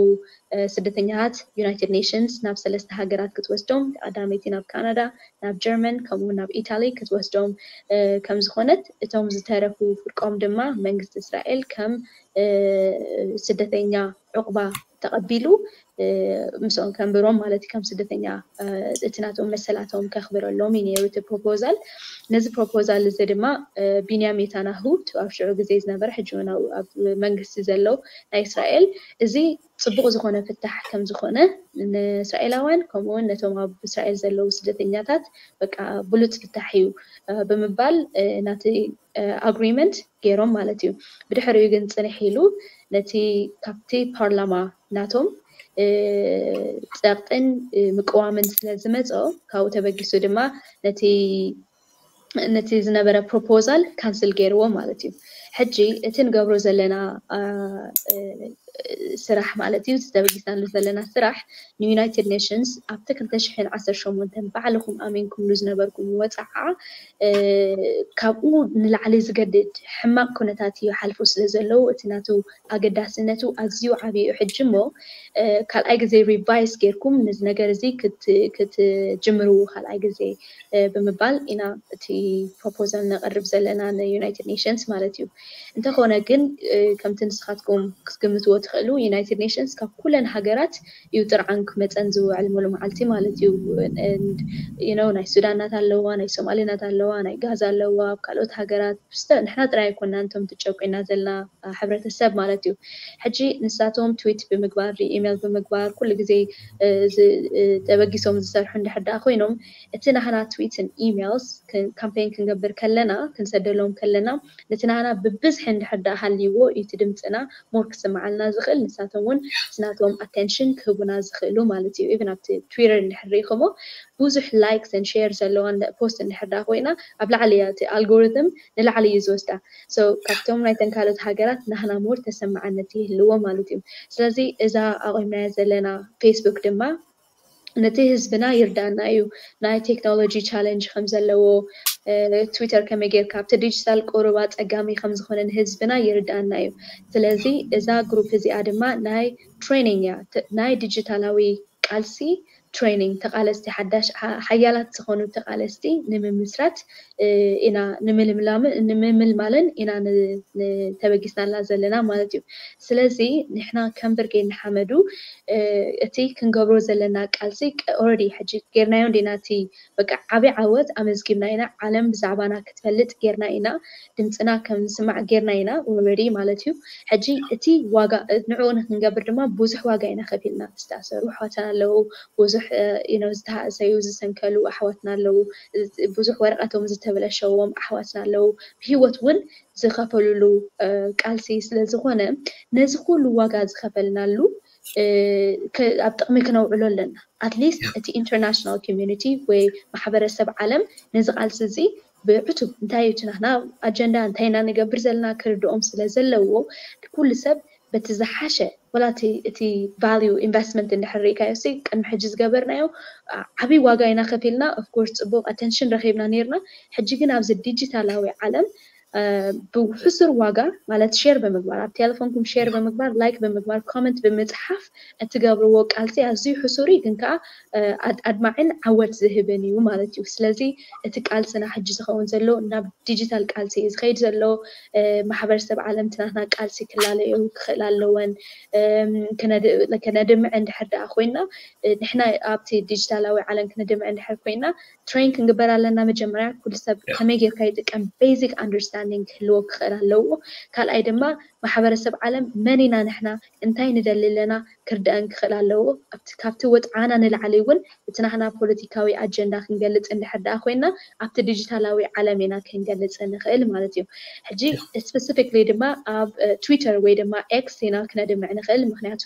ስደተኛታት ዩናይትድ ኔሽንስ ናብ ሰለስተ ሃገራት ክትወስዶም፣ ቀዳመይቲ ናብ ካናዳ፣ ናብ ጀርመን፣ ከምኡ ናብ ኢታሊ ክትወስዶም ከም ዝኾነት፣ እቶም ዝተረፉ ፍርቆም ድማ መንግስቲ እስራኤል ከም ስደተኛ ዕቑባ ተቐቢሉ ምስኦም ከንብሮም ማለት እዩ። ከም ስደተኛ እቲ ናቶም መሰላቶም ከኽብረሎም እዩ ነይሩ እቲ ፕሮፖዛል። ነዚ ፕሮፖዛል እዚ ድማ ቢንያም ኔታንያሁ፣ ኣብ ሽዑ ግዜ ዝነበረ፣ ሕጂ እውን ኣብ መንግስቲ ዘሎ ናይ እስራኤል፣ እዚ ፅቡቕ ዝኾነ ፍታሕ ከም ዝኾነ፣ ንእስራኤላውያን ከምኡ እውን ነቶም ኣብ እስራኤል ዘለዉ ስደተኛታት በቃ ብሉፅ ፍታሕ እዩ ብምባል ናቲ ኣግሪመንት ገይሮም ማለት እዩ። ብድሕሪኡ ግን ፅንሕ ኢሉ ነቲ ካብቲ ፓርላማ ናቶም ፀቕጥን ምቅዋምን ስለ ዝመፆ፣ ካብኡ ተበጊሱ ድማ ነቲ ነቲ ዝነበረ ፕሮፖዛል ካንስል ገይርዎ ማለት እዩ። ሕጂ እቲ ንገብሮ ዘለና ስራሕ ማለት እዩ፣ ተበጊስናሉ ዘለና ስራሕ ንዩናይትድ ኔሽንስ ኣብቲ ክልተ ሽሕን ዓሰርተ ሸሞንተን ባዕልኹም ኣሚንኩምሉ ዝነበርኩም ወፃዓ ካብኡ ንላዕሊ ዝገድድ ሕማቕ ኩነታት ይሓልፉ ስለ ዘለዉ፣ እቲ ናቱ ኣገዳስነቱ ኣዝዩ ዓብዩ ሕጂ እሞ ካልኣይ ግዜ ሪቫይስ ጌርኩም ነዚ ነገር እዚ ክትጅምርዎ ካልኣይ ግዜ ብምባል ኢና እቲ ፕሮፖዛል ነቕርብ ዘለና ንዩናይትድ ኔሽንስ ማለት እዩ። እንተኾነ ግን ከምቲ ንስኻትኩም ክትግምትዎ ትኽእሉ፣ ዩናይትድ ኔሽንስ ካብ ኩለን ሃገራት እዩ ጥርዓን ክመፀን ዝውዕል ሙሉ መዓልቲ ማለት እዩ። ናይ ሱዳን ናት ኣለዋ፣ ናይ ሶማሌ ናት ኣለዋ፣ ናይ ጋዛ ኣለዋ፣ ኣብ ካልኦት ሃገራት ንሕና ጥራይ ኣይኮናን እቶም ትጨቁና ዘለና ሕብረተሰብ ማለት እዩ። ሕጂ ንሳቶም ትዊት ብምግባር፣ ኢሜል ብምግባር፣ ኩሉ ግዜ ተበጊሶም ዝሰርሑ እንድሕር ደኣ ኮይኖም፣ እቲ ናህና ትዊትን ኢሜልስ ካምፔን ክንገብር ከለና፣ ክንሰደሎም ከለና፣ ነቲ ናህና ብብዝሒ እንድሕር ደኣ ሃልይዎ እዩ እቲ ድምፅና ሞር ክስምዓልና ዝኽእል፣ ንሳቶም እውን እቲ ናቶም ኣቴንሽን ክህቡና ዝኽእሉ ማለት እዩ። ኢቭን ኣብቲ ትዊተር እንድሕር ርኢኹሞ ብዙሕ ላይክስ ን ሼር ዘለዋን ፖስት እንድሕር ደኣ ኮይና ኣብ ላዕሊ እያ እቲ ኣልጎሪትም ንላዕሊ እዩ ዝወስዳ። So ካብቶም ናይተን ካልኦት ሃገራት ናህና ሞር ተሰማዕነት ይህልዎ ማለት እዩ። ስለዚ እዛ ኣቑምናያ ዘለና ፌስቡክ ድማ ነቲ ህዝብና ይርዳና እዩ። ናይ ቴክኖሎጂ ቻለንጅ ከም ዘለዎ፣ ትዊተር ከመይ ጌርካ ኣብቲ ዲጂታል ቁሩብ ኣጸጋሚ ከም ዝኾነ ንህዝብና ይርዳና እዩ። ስለዚ እዛ ግሩፕ እዚኣ ድማ ናይ ትሬኒንግ እያ፣ ናይ ዲጂታላዊ ቃልሲ ትሬኒንግ፣ ተቓለስቲ፣ ሓዳሽ ሓያላት ዝኾኑ ተቓለስቲ ንምምስራት ኢና ንምልምላምን ኢና ተበጊስናላ ዘለና ማለት እዩ። ስለዚ ንሕና ከም ብርጌድ ንሓመዱ እቲ ክንገብሮ ዘለና ቃልሲ ኦረዲ ሕጂ ጌርናዮ እንዲና፣ እቲ በቃ ዓብዪ ዓወት ኣመዝጊብና ኢና። ዓለም ብዛዕባና ክትፈልጥ ጌርና ኢና። ድምፅና ከም ዝስማዕ ጌርና ኢና ኦረዲ ማለት እዩ። ሕጂ እቲ ዋጋ ንዕኡ ንክንገብር ድማ ብዙሕ ዋጋ ኢና ከፊልና። ዝተኣሰሩ ኣሕዋትና ኣለዉ፣ ብዙሕ ዝተሃእሰዩ ዝሰንከሉ ኣሕዋትና ኣለዉ፣ ብዙሕ ወረቐቶም ዝተበለሸዎም ኣሕዋትና ኣለዉ፣ ብህይወት እውን ዝኸፈሉሉ ቃልሲ ስለ ዝኾነ ነዚ ኩሉ ዋጋ ዝኸፈልናሉ ኣብ ጥቕሚ ክነውዕሎ ኣለና። ኣትሊስት እቲ ኢንተርናሽናል ኮሚኒቲ ወይ ማሕበረሰብ ዓለም ነዚ ቃልሲ እዚ ብዕቱብ እንታይ እዩ እቲ ናትና ኣጀንዳ፣ እንታይ ኢና ንገብር ዘለና ክርድኦም ስለ ዘለዎ ኩሉ ሰብ በቲ ዝሓሸ ወላ እቲ ቫልዩ ኢንቨስትመንት እንድሕር ርኢካዮ ሲ ቅድሚ ሕጂ ዝገበርናዮ ዓብዪ ዋጋ ኢና ከፊልና። ኦፍኮርስ ፅቡቕ ኣቴንሽን ረኺብና ነይርና። ሕጂ ግን ኣብዚ ዲጂታላዊ ዓለም ብሕሱር ዋጋ ማለት ሼር ብምግባር ኣብ ቴሌፎንኩም ሼር ብምግባር ላይክ ብምግባር ኮመንት ብምፅሓፍ እትገብርዎ ቃልሲ ኣዝዩ ሕሱር እዩ፣ ግን ከዓ ኣድማዕን ዓወት ዝህብን እዩ ማለት እዩ። ስለዚ እቲ ቃልስና ሕጂ ዝኸውን ዘሎ ናብ ዲጂታል ቃልሲ እዩ ዝኸይድ ዘሎ። ማሕበረሰብ ዓለም እቲ ናትና ቃልሲ ክላለዮ ክኽእል ኣለወን። ከነድምዕ እንድሕር ደኣ ኮይና ንሕና ኣብቲ ዲጂታላዊ ዓለም ክነድምዕ እንድሕር ኮይና ትሬን ክንግበር ኣለና። መጀመርያ ኩሉ ሰብ ከመይ ጌርካ ይጥቀም ቤዚክ ኣንደርስታንዲንግ ክህልዎ ክኽእል ኣለዎ። ካልኣይ ድማ ማሕበረሰብ ዓለም መን ኢና ንሕና እንታይ ንደሊ ኣለና ክርድአን ክኽእል ኣለዎ። ኣብቲ ካብቲ ወፅዓና ንላዕሊ እውን እቲ ናህና ፖለቲካዊ ኣጀንዳ ክንገልፅ እንድሕር ደኣ ኮይና ኣብቲ ዲጂታላዊ ዓለም ኢና ክንገልፅ ንኽእል ማለት እዩ። ሕጂ ስፔሲፊክሊ ድማ ኣብ ትዊተር ወይ ድማ ኤክስ ኢና ክነድምዕ ንኽእል። ምክንያቱ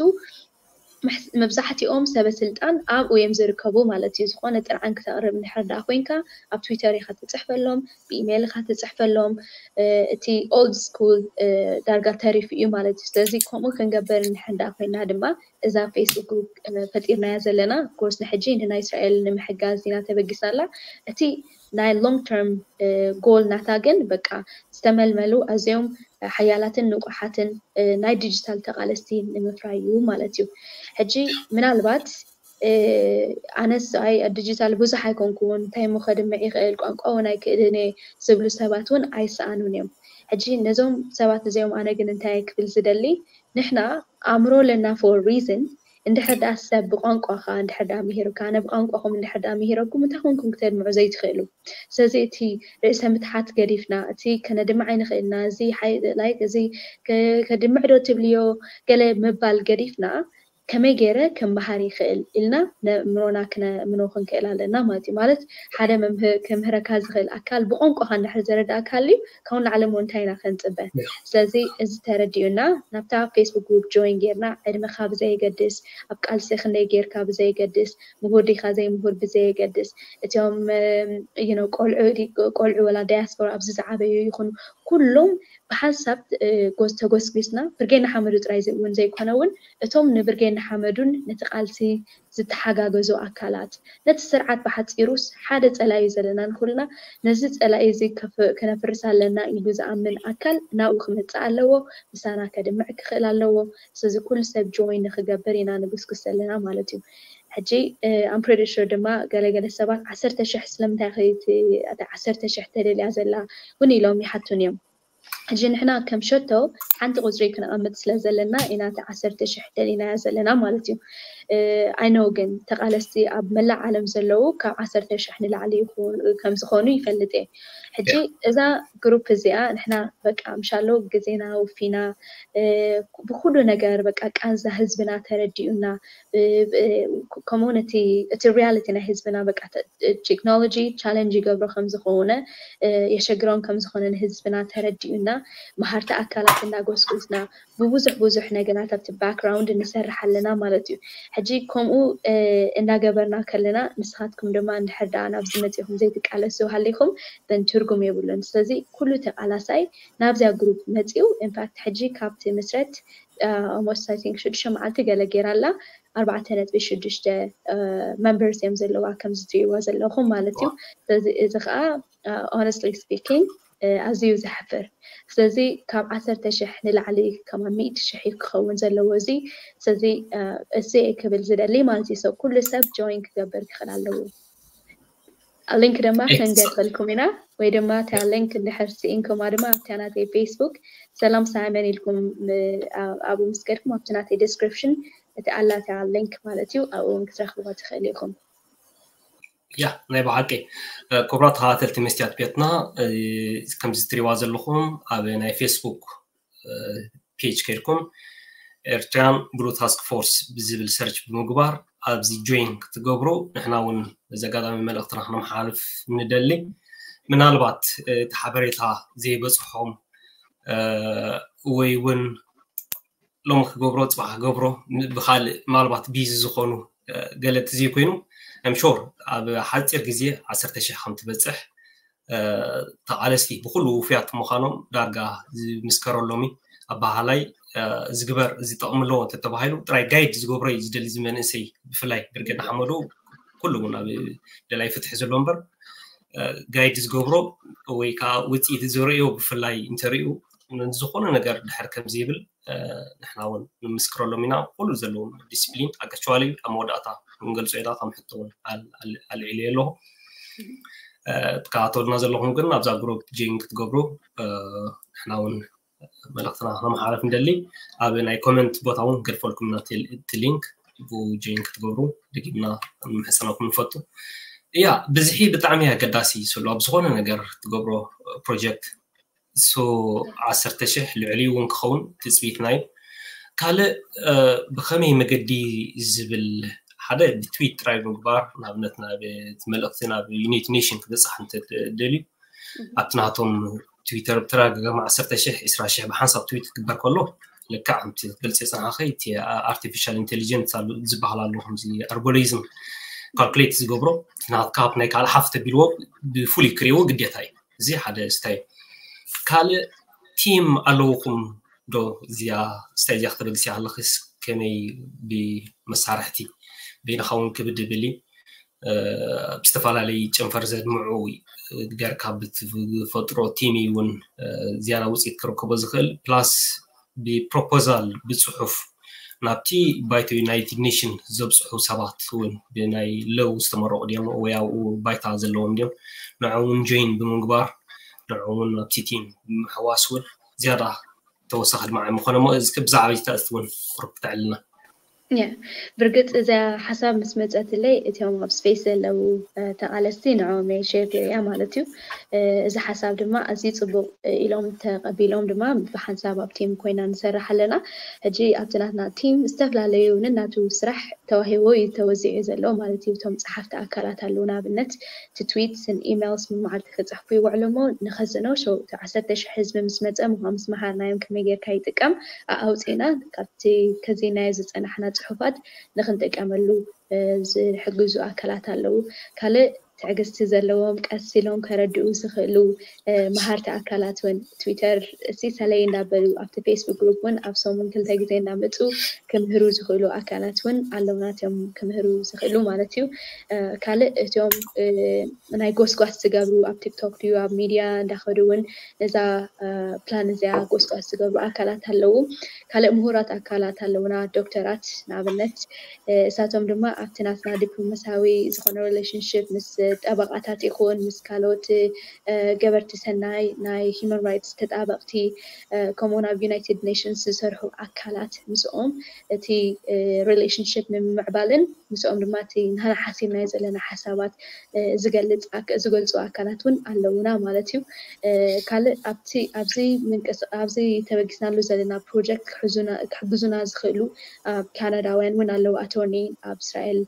መብዛሕትኦም ሰበ ስልጣን ኣብኡ እዮም ዝርከቡ ማለት እዩ። ዝኾነ ጥርዓን ክተቕርብ እንድሕር ደኣ ኮይንካ ኣብ ትዊተር ኢኻ ትፅሕፈሎም፣ ብኢሜይል ኢኻ ትፅሕፈሎም። እቲ ኦልድ ስኩል ዳርጋ ተሪፉ እዩ ማለት እዩ። ስለዚ ከምኡ ክንገብር እንድሕር ደኣ ኮይና ድማ እዛ ፌስቡክ ግሩፕ ፈጢርናያ ዘለና ኮርስ ንሕጂ ንናይ እስራኤል ንምሕጋዝ ኢና ተበጊስናላ። እቲ ናይ ሎንግ ተርም ጎል ናታ ግን በቃ ዝተመልመሉ ኣዝዮም ሓያላትን ንቑሓትን ናይ ዲጂታል ተቓለስቲ ንምፍራይ እዩ ማለት እዩ። ሕጂ ምናልባት ኣነስ ኣይ ዲጂታል ብዙሕ ኣይኮንኩን እንታይ ሞ ከድምዕ ይኽእል ቋንቋ እውን ኣይክእልን እየ ዝብሉ ሰባት እውን ኣይሰኣኑን እዮም። ሕጂ ነዞም ሰባት እዚኦም ኣነ ግን እንታይ ክብል ዝደሊ ንሕና ኣእምሮ ኣለና for reason እንድሕር ደኣ ሰብ ብቋንቋኻ እንድሕር ደኣ ምሂሩካ ኣነ ብቋንቋኹም እንድሕር ደኣ ምሂረኩም እንታይ ኮንኩም ክተድምዑ ዘይትኽእሉ። ስለዚ እቲ ርእሰ ምትሓት ገዲፍና እቲ ከነድምዕ ኣይንኽእልና እዚ like እዚ ከድምዕ ዶ ትብልዮ ገለ ምባል ገዲፍና ከመይ ገይረ ክመሃር ይኽእል ኢልና ነእምሮና ክነእምኖ ክንክእል ኣለና ማለት እዩ። ማለት ሓደ ክምህረካ ዝኽእል ኣካል ብቋንቋኻ እንድሕር ዘረዳእካ ሃልዩ ካብኡ ንላዕሊ እሞ እንታይ ኢና ከንፅበ? ስለዚ እዚ ተረዲኡና ናብታ ፌስቡክ ግሩፕ ጆይን ጌርና ዕድመኻ ብዘየገድስ ኣብ ቃልሲ ክንደይ ጌርካ ብዘየገድስ ምሁር ዲኻ ዘይምሁር ብዘየገድስ እቲኦም ቆልዑ ወላ ዳያስፖራ ኣብዚ ዝዓበዩ ይኹኑ ኩሎም ብሓንሳብ ተጎስጒስና ብርጌድ ንሓመዱ ጥራይ እውን ዘይኮነ እውን እቶም ንብርጌድ ንሓመዱን ነቲ ቃልሲ ዝተሓጋገዙ ኣካላት ነቲ ስርዓት ብሓፂሩስ ሓደ ፀላኢ እዩ ዘለና ንኩልና ነዚ ፀላኢ እዚ ከነፍርስ ኣለና ኢሉ ዝኣምን ኣካል ናብኡ ክመፅእ ኣለዎ ምሳና ከድምዕ ክኽእል ኣለዎ ስለዚ ኩሉ ሰብ ጆይን ንክገብር ኢና ንጉስጉስ ዘለና ማለት እዩ ሕጂ ኣምፕሬዲሽር ድማ ገለገለ ሰባት ዓሰርተ ሽሕ ስለምንታይ ዓሰርተ ሽሕ ተደልያ ዘላ እውን ኢሎም ይሓቱን እዮም ሕጂ ንሕና ከም ሸቶ ሓንቲ ቁፅሪ ክነቐምጥ ስለ ዘለና ኢና እቲ ዓሰርተ ሽሕ ደሊናያ ዘለና ማለት እዩ። I know ግን ተቓለስቲ ኣብ መላእ ዓለም ዘለዉ ካብ ዓሰርተ ሽሕ ንላዕሊ ከምዝኾኑ ይፈልጥ እየ። ሕጂ እዛ ግሩፕ እዚኣ ንሕና በቃ ምሻሎ ግዜና ውፊና ብኩሉ ነገር በቃ ቃንዛ ህዝብና ተረዲኡና ከምኡ እቲ ሪያሊቲ ናይ ህዝብና በቃ ቴክኖሎጂ ቻለንጅ ይገብሮ ከምዝኾነ የሸግሮም ከምዝኾነ ንህዝብና ተረዲኡና መሃርቲ ኣካላት እናጎስጎስና ብብዙሕ ብዙሕ ነገራት ኣብቲ ባክግራውንድ ንሰርሕ ኣለና ማለት እዩ ሕጂ ከምኡ እናገበርና ከለና ንስኻትኩም ድማ እንድሕር ደኣ ናብዚ መፂኹም ዘይትቃለሱ ሃሊኹም በን ትርጉም የብሉን ስለዚ ኩሉ ተቃላሳይ ናብዚያ ግሩፕ መፂኡ ኢንፋክት ሕጂ ካብቲ ምስረት almost I think ሽዱሽተ መዓልቲ ገለ ገይራ ኣላ ኣርባዕተ ነጥቢ ሽዱሽተ members እዮም ዘለዋ ከምዚ ትሪእዋ ዘለኹም ማለት እዩ ስለዚ እዚ ከዓ honestly speaking ኣዝዩ ዘሕፍር ስለዚ ካብ ዓሰርተ ሽሕ ንላዕሊ ከማ ሚእቲ ሽሕ እዩ ክኸውን ዘለዎ እዚ ስለዚ እዚ ክብል ዝደሊ ማለት እዩ ሰብ ኩሉ ሰብ ጆይን ክገብር ክኽእል ኣለዎ ሊንክ ድማ ክንገርፈልኩም ኢና ወይ ድማ እታ ሊንክ እንድሕር ስኢንኩማ ድማ ኣብታ ናተይ ፌስቡክ ሰላም ሳይመን ኢልኩም ኣብኡ ምስ ከድኩም ኣብቲ ናተይ ዲስክሪፕሽን እቲ ኣላ እታ ሊንክ ማለት እዩ ኣብኡ እውን ክትረኽብዋ ትኽእል ኢኹም ያ ናይ ብሓቂ ክቡራት ተኸታተልቲ መስትያት ቤትና ከምዚ ትሪዋ ዘለኹም ኣብ ናይ ፌስቡክ ፔጅ ከድኩም ኤርትራን ብሉ ታስክ ፎርስ ብዝብል ሰርች ብምግባር ኣብዚ ጆይን ክትገብሩ ንሕና እውን እዚ ኣጋጣሚ መልእክትና ክነመሓላልፍ ንደሊ ምናልባት እቲ ሓበሬታ ዘይበፅሖም ወይ እውን ሎሚ ክገብሮ ፅባሕ ክገብሮ ብካልእ ምናልባት ቢዚ ዝኾኑ ገለ ተዘይኮይኑ I'm sure ኣብ ሓፂር ግዜ ዓሰርተ ሽሕ ከም ትበፅሕ ተቓለስቲ ብኩሉ ውፉያት ምዃኖም ዳርጋ ዝምስከረሎም እዩ ኣባሃላይ ዝግበር እዚ ጠቕሚ ኣለዎ እንተተባሂሉ ጥራይ ጋይድ ዝገብሮ እዩ ዝደሊ እዚ መንእሰይ ብፍላይ ብርጌድ ንሓመዱ ኩሉ እውን ኣብ ደላይ ፍትሒ ዘሎ እምበር ጋይድ ዝገብሮ ወይ ከዓ ውፅኢት ዘርእዮ ብፍላይ እንተርእዩ ዝኾነ ነገር ድሕር ከም ዘይብል ንሕና እውን ንምስክረሎም ኢና ኩሉ ዘለዎም ዲስፕሊን ኣክቹዋሊ ኣብ መወዳእታ ክንገልፆ ኢና ከም ሕቶ እውን ኣልዒሉ ኣለኹ ትከታተሉና ዘለኹም ግን ኣብዛ ግሩፕ ጆይን ክትገብሩ ንሕና እውን መልእክትና ከመሓላልፍ ንደሊ ኣብ ናይ ኮመንት ቦታ እውን ገድፈልኩም ኢና እቲ ሊንክ ብኡ ጆይን ክትገብሩ ደጊምና ንምሕፀነኩም ንፈቱ እያ ብዝሒ ብጣዕሚ ኣገዳሲ ስሉ ኣብ ዝኾነ ነገር ትገብሮ ፕሮጀክት so ዓሰርተ ሽሕ ልዕሊ እውን ክኸውን ትፅቢትና እዩ ካልእ ብኸመይ መገዲ ዝብል ሓደ ብትዊት ጥራይ ምግባር ንኣብነት ናብ መልእክቲ ናብ ዩኒት ኔሽን ክበፅሕ እንተደልዩ ኣብቲ ናቶም ትዊተር ብተደጋጋሚ ዓሰርተ ሽሕ ዕስራ ሽሕ ብሓንሳብ ትዊት ክግበር ከሎ ልክዕ ከምቲ ገልፂ የፅናሓኸ እቲ ኣርቲፊሻል ኢንቴሊጀንስ ዝበሃል ኣሎ ከምዚ ኣርጎሪዝም ካልኩሌት ዝገብሮ ናትካ ናይ ካልእ ሓፍ ተቢልዎ ብፍሉይ ክሪዎ ግዴታ እዩ። እዚ ሓደ ስታይ። ካልእ ቲም ኣለውኹም ዶ? እዚኣ ስታይ እዚኣ ክተበግሲ ኣለኽስ ከመይ ብመሳርሕቲ በይንኻ እውን ክብድ ብል ብዝተፈላለዩ ጨንፈር ዘድምዑ ገርካ ብትፈጥሮ ቲም እውን ዝያዳ ውፅኢት ክረክቦ ዝኽእል ፕላስ ብፕሮፖዛል ብፅሑፍ ናብቲ ባይቶ ዩናይትድ ኔሽን ዘብፅሑ ሰባት እውን ብናይ ለው ዝተመረቑ ድዮም ወይ ኣብኡ ባይታ ዘለዎም ድዮም ንዕውን ጆይን ብምግባር ንዕውን ናብቲ ቲም ብምሕዋስ እውን ዝያዳ ተወሳኺ ድማ ምኾነ እሞ እዚ ብዛዕባ ተእስቲ እውን ቁርብ ክተዕልና ያ ብርግፅ እዚኣ ሓሳብ ምስ መፀትለይ እቲኦም ኣብ ስፔስ ዘለዉ ተቃለስቲ ንዕኦም ናይ ሸር ገይረያ ማለት እዩ። እዚ ሓሳብ ድማ ኣዝዩ ፅቡቅ ኢሎም ተቀቢሎም ድማ ብሓንሳብ ኣብ ቲም ኮይና ንሰርሕ ኣለና። ሕጂ ኣብቲ ናትና ቲም ዝተፈላለዩ ንናቱ ስራሕ ተዋሂቦ እዩ ተወዚዑ ዘሎ ማለት እዩ። እቶም ፀሓፍቲ ኣካላት ኣለዉ ንኣብነት ትትዊትስን ኢሜልስ መዓልቲ ክፅሕፉ ይውዕሉ እሞ ንኸዝኖ ሸውቲ ዓሰርተ ሽሕ ህዝቢ ምስ መፀ ምኳ ምስ መሃርናዮም ከመይ ጌርካ ይጥቀም ኣውፅእና ካብቲ ከዚናዮ ዝፀናሕና ፅሑፋት ንክንጥቀመሉ ዝሕግዙ ኣካላት ኣለዉ። ካልእ ትዕግስቲ ዘለዎም ቀስ ኢሎም ከረድኡ ዝኽእሉ መሃርቲ ኣካላት እውን ትዊተር እሲ ሰለይ እንዳበሉ ኣብቲ ፌስቡክ ግሩፕ እውን ኣብ ሰሙን ክልተ ግዜ እንዳመፁ ክምህሩ ዝኽእሉ ኣካላት እውን ኣለውና እቲኦም ክምህሩ ዝኽእሉ ማለት እዩ። ካልእ እቲኦም ናይ ጎስጓስ ዝገብሩ ኣብ ቲክቶክ ድዩ ኣብ ሚድያ እንዳኸዱ እውን ነዛ ፕላን እዚኣ ጎስጓስ ዝገብሩ ኣካላት ኣለዉ። ካልእ ምሁራት ኣካላት ኣለውና ዶክተራት ንኣብነት እሳቶም ድማ ኣብቲ ናትና ዲፕሎማሲያዊ ዝኾነ ሪሌሽንሽፕ ምስ ጠበቃታት ይኹን ምስ ካልኦት ገበርቲ ሰናይ ናይ ሂማን ራይትስ ተጣበቅቲ ከምኡውን ኣብ ዩናይትድ ኔሽንስ ዝሰርሑ ኣካላት ምስኦም እቲ ሪሌሽንሽፕ ንምምዕባልን ምስኦም ድማ እቲ ንሕና ሓሲብናዮ ዘለና ሓሳባት ዝገልፅ ዝገልፁ ኣካላት እውን ኣለውና ማለት እዩ። ካልእ ኣብቲ ኣብዚ ምንቅስቃ ኣብዚ ተበጊስናሉ ዘለና ፕሮጀክት ክሕዙና ክሕግዙና ዝኽእሉ ኣብ ካናዳውያን እውን ኣለዉ ኣቶርኒ ኣብ እስራኤል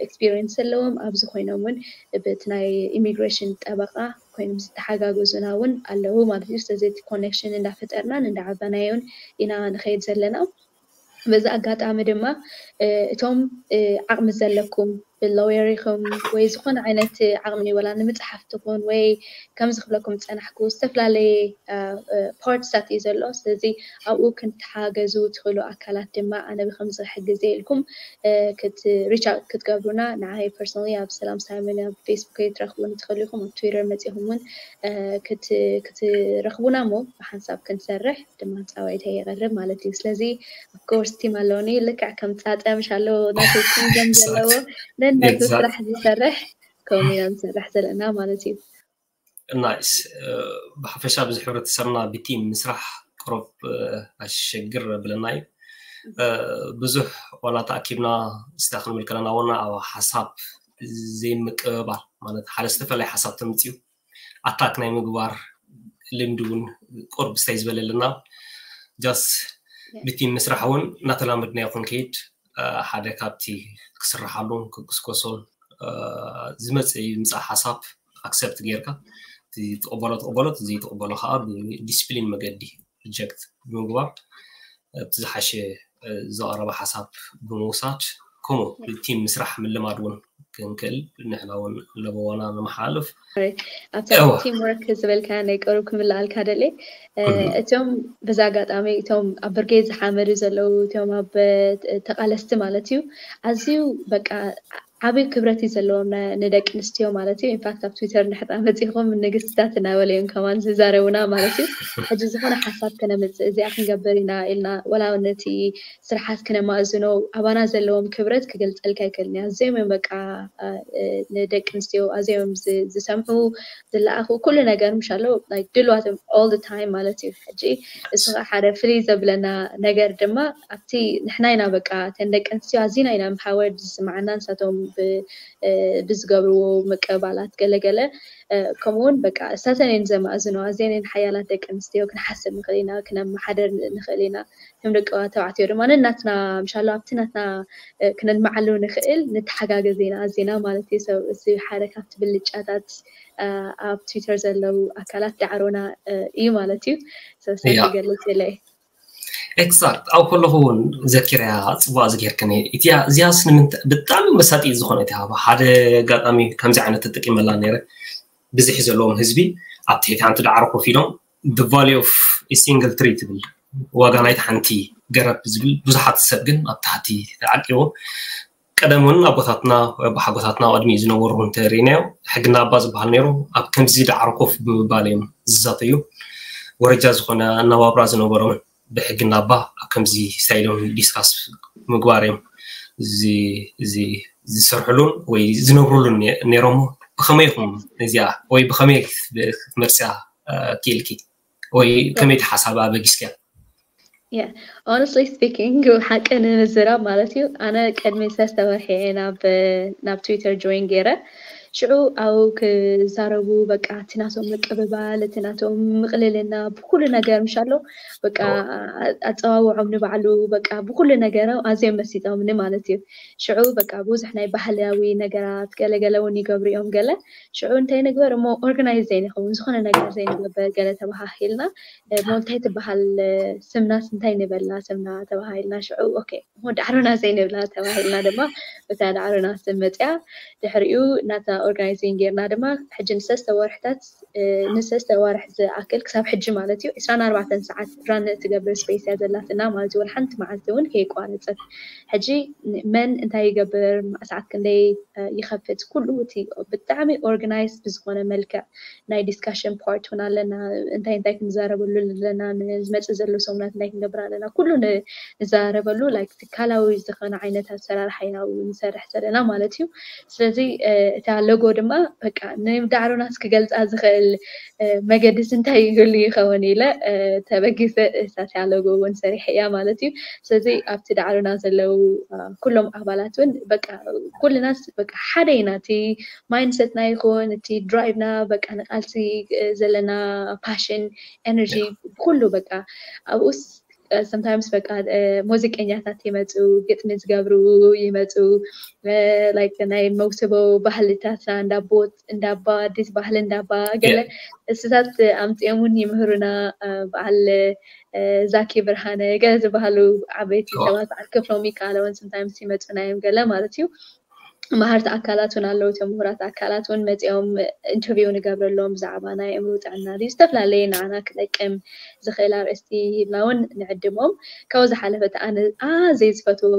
ኤክስፒሪየንስ ዘለዎም ኣብዚ ኮይኖም እውን በቲ ናይ ኢሚግሬሽን ጠበቃ ኮይኖም ዝተሓጋገዙና እውን ኣለዉ ማለት እዩ። ስለዚ እቲ ኮኔክሽን እንዳፈጠርናን እንዳዓበናዮን ኢና ንኸይድ ዘለና። በዚ ኣጋጣሚ ድማ እቶም ዓቕሚ ዘለኩም ብሎየር ኢኹም ወይ ዝኾነ ዓይነት ዓቕሚ ወላ ንምፅሓፍ ትኹን ወይ ከምዚ ክብለኩም ዝፀናሕኩ ዝተፈላለየ ፓርትሳት እዩ ዘሎ። ስለዚ ኣብኡ ክንተሓገዙ ትኽእሉ ኣካላት ድማ ኣነ ብከምዚ ክሕግዝ ኢልኩም ሪች ኣውት ክትገብሩና ንዓይ ፐርሶናሊ ኣብ ሰላም ሳይመን ኣብ ፌስቡክ ክትረኽቡኒ ትኽእሉ ኢኹም። ኣብ ትዊተር መፂኹም እውን ክትረኽቡና እሞ ብሓንሳብ ክንሰርሕ ድማ ፃውዒተይ የቕርብ ማለት እዩ። ስለዚ ኦፍኮርስ ቲም ኣለውኒ ልክዕ ከም ፃፀ ምሽ ኣለዎ ናተይ ቲም ከም ዘለዎ ነናቱ ስራሕ ዝሰርሕ ከምኡ ኢና ንሰርሕ ዘለና ማለት እዩ። ናይስ ብሓፈሻ ብዙሕ ሕብረተሰብና ብቲም ምስራሕ ቅሩብ ኣሸግር ብለና እዩ። ብዙሕ ዋላ ተኣኪብና ስታ ክንብል ከለና ወና ኣብ ሓሳብ ዘይምቅብባል ማለት ሓደ ዝተፈላለየ ሓሳብ ተምፅኡ ኣታክ ናይ ምግባር ልምዲ እውን ቁርብ ስታይ ዝበለልና ጃስ ብቲም ምስራሕ እውን እናተላመድናዮ ክንከይድ ሓደ ካብቲ ክስርሓሉን ክጉስጎሶን ዝመፅእ ይምፃእ ሓሳብ ኣክሰፕት ጌርካ ትቕበሎ ትቕበሎ ዘይትቕበሎ ከዓ ብዲስፕሊን መገዲ ሪጀክት ብምግባር እቲ ዝሓሸ ዝቐረበ ሓሳብ ብምውሳድ ከምኡ ቲም ምስራሕ ምልማድ እውን ክንክእል ንሕና እውን ለበዋና ንመሓልፍ ኣብቲ ቲም ወርክ ዝበልካ ናይ ቀሩብ ክምልኣልካ ደልየ እቶም በዚ ኣጋጣሚ እቶም ኣብ ብርጌድ ዝሓመዱ ዘለዉ እቶም ኣብ ተቃለስቲ ማለት እዩ ኣዝዩ በቃ ዓብይ ክብረት እዩ ዘለዎም ንደቂ ኣንስትዮ ማለት እዩ። ኢንፋክት ኣብ ትዊተር እንድሕር መፂኹም ንግስትታት እናበለ እዮም ከማን ዝዛረቡና ማለት እዩ። ሕጂ ዝኾነ ሓሳብ ከነምፅእ እዚኣ ክንገብር ኢና ኢልና ወላ ነቲ ስርሓት ክነማእዝኖ ኣባና ዘለዎም ክብረት ክገልፀልካ ኣይክእልን እያ። ኣዝዮም እዮም በቃ ንደቂ ኣንስትዮ ኣዝዮም ዝሰምዑ ዝለኣኹ ኩሉ ነገር ምሻሎ ድልዋት እዮም all the time ማለት እዩ። ሕጂ እሱ ሓደ ፍልይ ዘብለና ነገር ድማ ኣብቲ ንሕና ኢና በቃ ተን ደቂ ኣንስትዮ ኣዚና ኢና ምሓወር ዝስማዓና ንሳቶም ብዝገብርዎ ምቅባላት ገለገለ ከምኡውን በቃ እሳተን እየን ዘማእዝኖ ኣዝየን ሓያላት ደቂ ኣንስትዮ ክንሓስብ ንኽእል ኢና ክነመሓደር ንኽእል ኢና። እቶም ደቂ ተባዕትዮ ድማ ነናትና ምሻሎ ኣብቲ ናትና ክነልምዓሉ ንኽእል ንተሓጋገዝ ኢና ኣዚና ማለት እዩ። ሰብ እዚ ሓደ ካብቲ ብልጫታት ኣብ ትዊተር ዘለዉ ኣካላት ዳዕሮና እዩ ማለት እዩ። ሰብሰብ ክገልፅ ኢለ ኤግዛክት። ኣብ ከለኹ እውን ዘኪረያ ጽቡቅ ዝጌርክኒ። እቲያ እዚያስ ንምንታይ ብጣዕሚ መሳጢ ዝኾነ እቲ ሃባ ሓደ ኣጋጣሚ ከምዚ ዓይነት ተጠቂመላ ነይረ። ብዝሒ ዘለዎም ህዝቢ ኣብ ትሕቲ ሓንቲ ዳዕሮ ኮፍ ኢሎም the value of a single tree ትብል፣ ዋጋ ናይቲ ሓንቲ ገረብ ዝብል፣ ብዙሓት ሰብ ግን ኣብ ታሕቲ ተዓቂቡ። ቀደም እውን ኣቦታትና ኣቦሓጎታትና ቅድሚ ዝነበሩ እንተሪእናዮ ሕግና ኣባ ዝበሃል ነይሩ። ኣብ ከምዚ ዳዕሮ ኮፍ ብምባል እዮም ዝዛተዩ። ወረጃ ዝኾነ ኣነባብራ ዝነበሮምን ብሕግና ኣባ ኣብ ከምዚ ስታይሎም ዲስካስ ምግባር እዮም ዝሰርሕሉን ወይ ዝነብሩሉን ነይሮም። ብኸመይ ኢኹም እዚኣ ወይ ብኸመይ ክትመርፅያ ክኢልኪ ወይ ከመይ ሓሳብ ኣበጊስኪያ? Yeah, honestly speaking፣ ሓቂ ንምዝራብ ማለት እዩ። ኣነ ቅድሚ ሰለስተ ወርሒ እየ ናብ ናብ ትዊተር ጆይን ገይረ። ሽዑ ኣብኡ ክዛረቡ በቃ እቲ ናቶም ምቅብባል፣ እቲ ናቶም ምቕልልና ብኩሉ ነገር ምሻሎ በቃ ኣፀዋውዖም ንባዕሉ በቃ ብኩሉ ነገሮም ኣዝዮም መሲጦምኒ ማለት እዩ። ሽዑ በቃ ብዙሕ ናይ ባህላዊ ነገራት ገለገለ እውን ይገብሩ እዮም ገለ። ሽዑ እንታይ ንግበር እሞ ኦርጋናይዝ ዘይንኸውን ዝኾነ ነገር ዘይንገብር ገለ ተባሃሂልና እሞ እንታይ ትበሃል ስምናስ እንታይ ንበላ ስምና ተባሃሂልና ሽዑ ኦኬ እሞ ዳዕሮና ዘይንብላ ተባሂልና ድማ እታ ዳዕሮና ስም መፅያ። ድሕሪኡ ናታ ኦርጋናይዚንግ ጌርና ድማ ሕጂ ንሰለስተ ወርሕታት ንሰለስተ ወርሒ ዝኣክል ክሳብ ሕጂ ማለት እዩ ዕስራን ኣርባዕተን ሰዓት ራን እትገብር ስፔስ እያ ዘላትና ማለት እዩ። ወላ ሓንቲ መዓልቲ እውን ከየቋረፀት ሕጂ መን እንታይ ይገብር ሰዓት ክንደይ ይኸፍት ኩሉ እቲ ብጣዕሚ ኦርጋናይዝ ብዝኾነ መልክዕ ናይ ዲስካሽን ፓርት እውን ኣለና። እንታይ እንታይ ክንዛረበሉ ኣለና፣ ንዝመፅእ ዘሎ ሰሙናት እንታይ ክንገብር ኣለና፣ ኩሉ ንዛረበሉ ላይክ ትካላዊ ዝኾነ ዓይነት ኣሰራርሓ ኢና ንሰርሕ ዘለና ማለት እዩ። ስለዚ እታ ሎጎ ድማ በቃ ንዳዕሮናስ ክገልፃ ዝኽእል መገድስ እንታይ ይህሉ ይኸውን ኢለ ተበጊሰ እሳትያ ሎጎ እውን ሰሪሐ እያ ማለት እዩ። ስለዚ ኣብቲ ዳዕሮና ዘለዉ ኩሎም ኣባላት እውን በቃ ኩልናስ በቃ ሓደ ኢና። እቲ ማይንድሰትና ይኹን እቲ ድራይቭና በቃ ንቃልሲ ዘለና ፓሽን ኤነርጂ ኩሉ በቃ ኣብኡስ ሰምታይምስ በቃ ሙዚቀኛታት ይመፁ፣ ግጥሚ ዝገብሩ ይመፁ፣ ላይክ ናይ መውስቦ ባህልታትና እንዳቦት እንዳባ ኣዲስ ባህሊ እንዳባ ገለ እስታት ኣምፅኦም እውን ይምህሩና። በዓል ዛኪ ብርሃነ ገለ ዝበሃሉ ዓበይቲ ሰባት በዓል ክፍሎም ይከኣለውን ሰምታይምስ ይመፁና እዮም ገለ ማለት እዩ። መሃርቲ ኣካላት እውን ኣለዉ። እቶም ምሁራት ኣካላት እውን መፂኦም ኢንተርቪው ንገብረሎም ብዛዕባ ናይ ኣእምሮ ጥዕና ድዩ ዝተፈላለየ ንዓና ክጠቅም ዝኽእል ኣርእስቲ ሂብና እውን ንዕድሞም። ካብኡ ዝሓለፈ እቲ ኣነ ኣዘይ ዝፈትዎ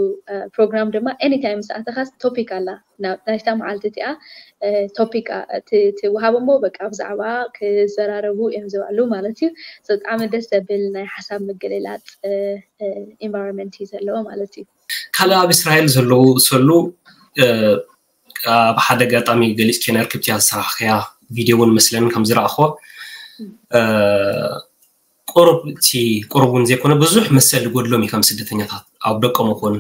ፕሮግራም ድማ ኤኒታይም ምስ ኣተኻስ ቶፒክ ኣላ ናይታ መዓልቲ እቲኣ ቶፒክ ትወሃብ እሞ በቃ ብዛዕባ ክዘራረቡ እዮም ዝውዕሉ ማለት እዩ። ብጣዕሚ ደስ ዘብል ናይ ሓሳብ ምግልላፅ ኢንቫይሮንመንት እዩ ዘለዎ ማለት እዩ። ካልእ ኣብ እስራኤል ዘለዉ ሰሉ ኣብ ሓደ ኣጋጣሚ ገሊፅኪ ነርክብቲ ዝሰራሕክያ ቪድዮ እውን መስለኒ ከም ዝረኣኽዎ ቁሩብ እቲ ቁሩብ እውን ዘይኮነ ብዙሕ መሰል ዝጎድሎም እዩ ከም ስደተኛታት ኣብ ደቆም ይኹን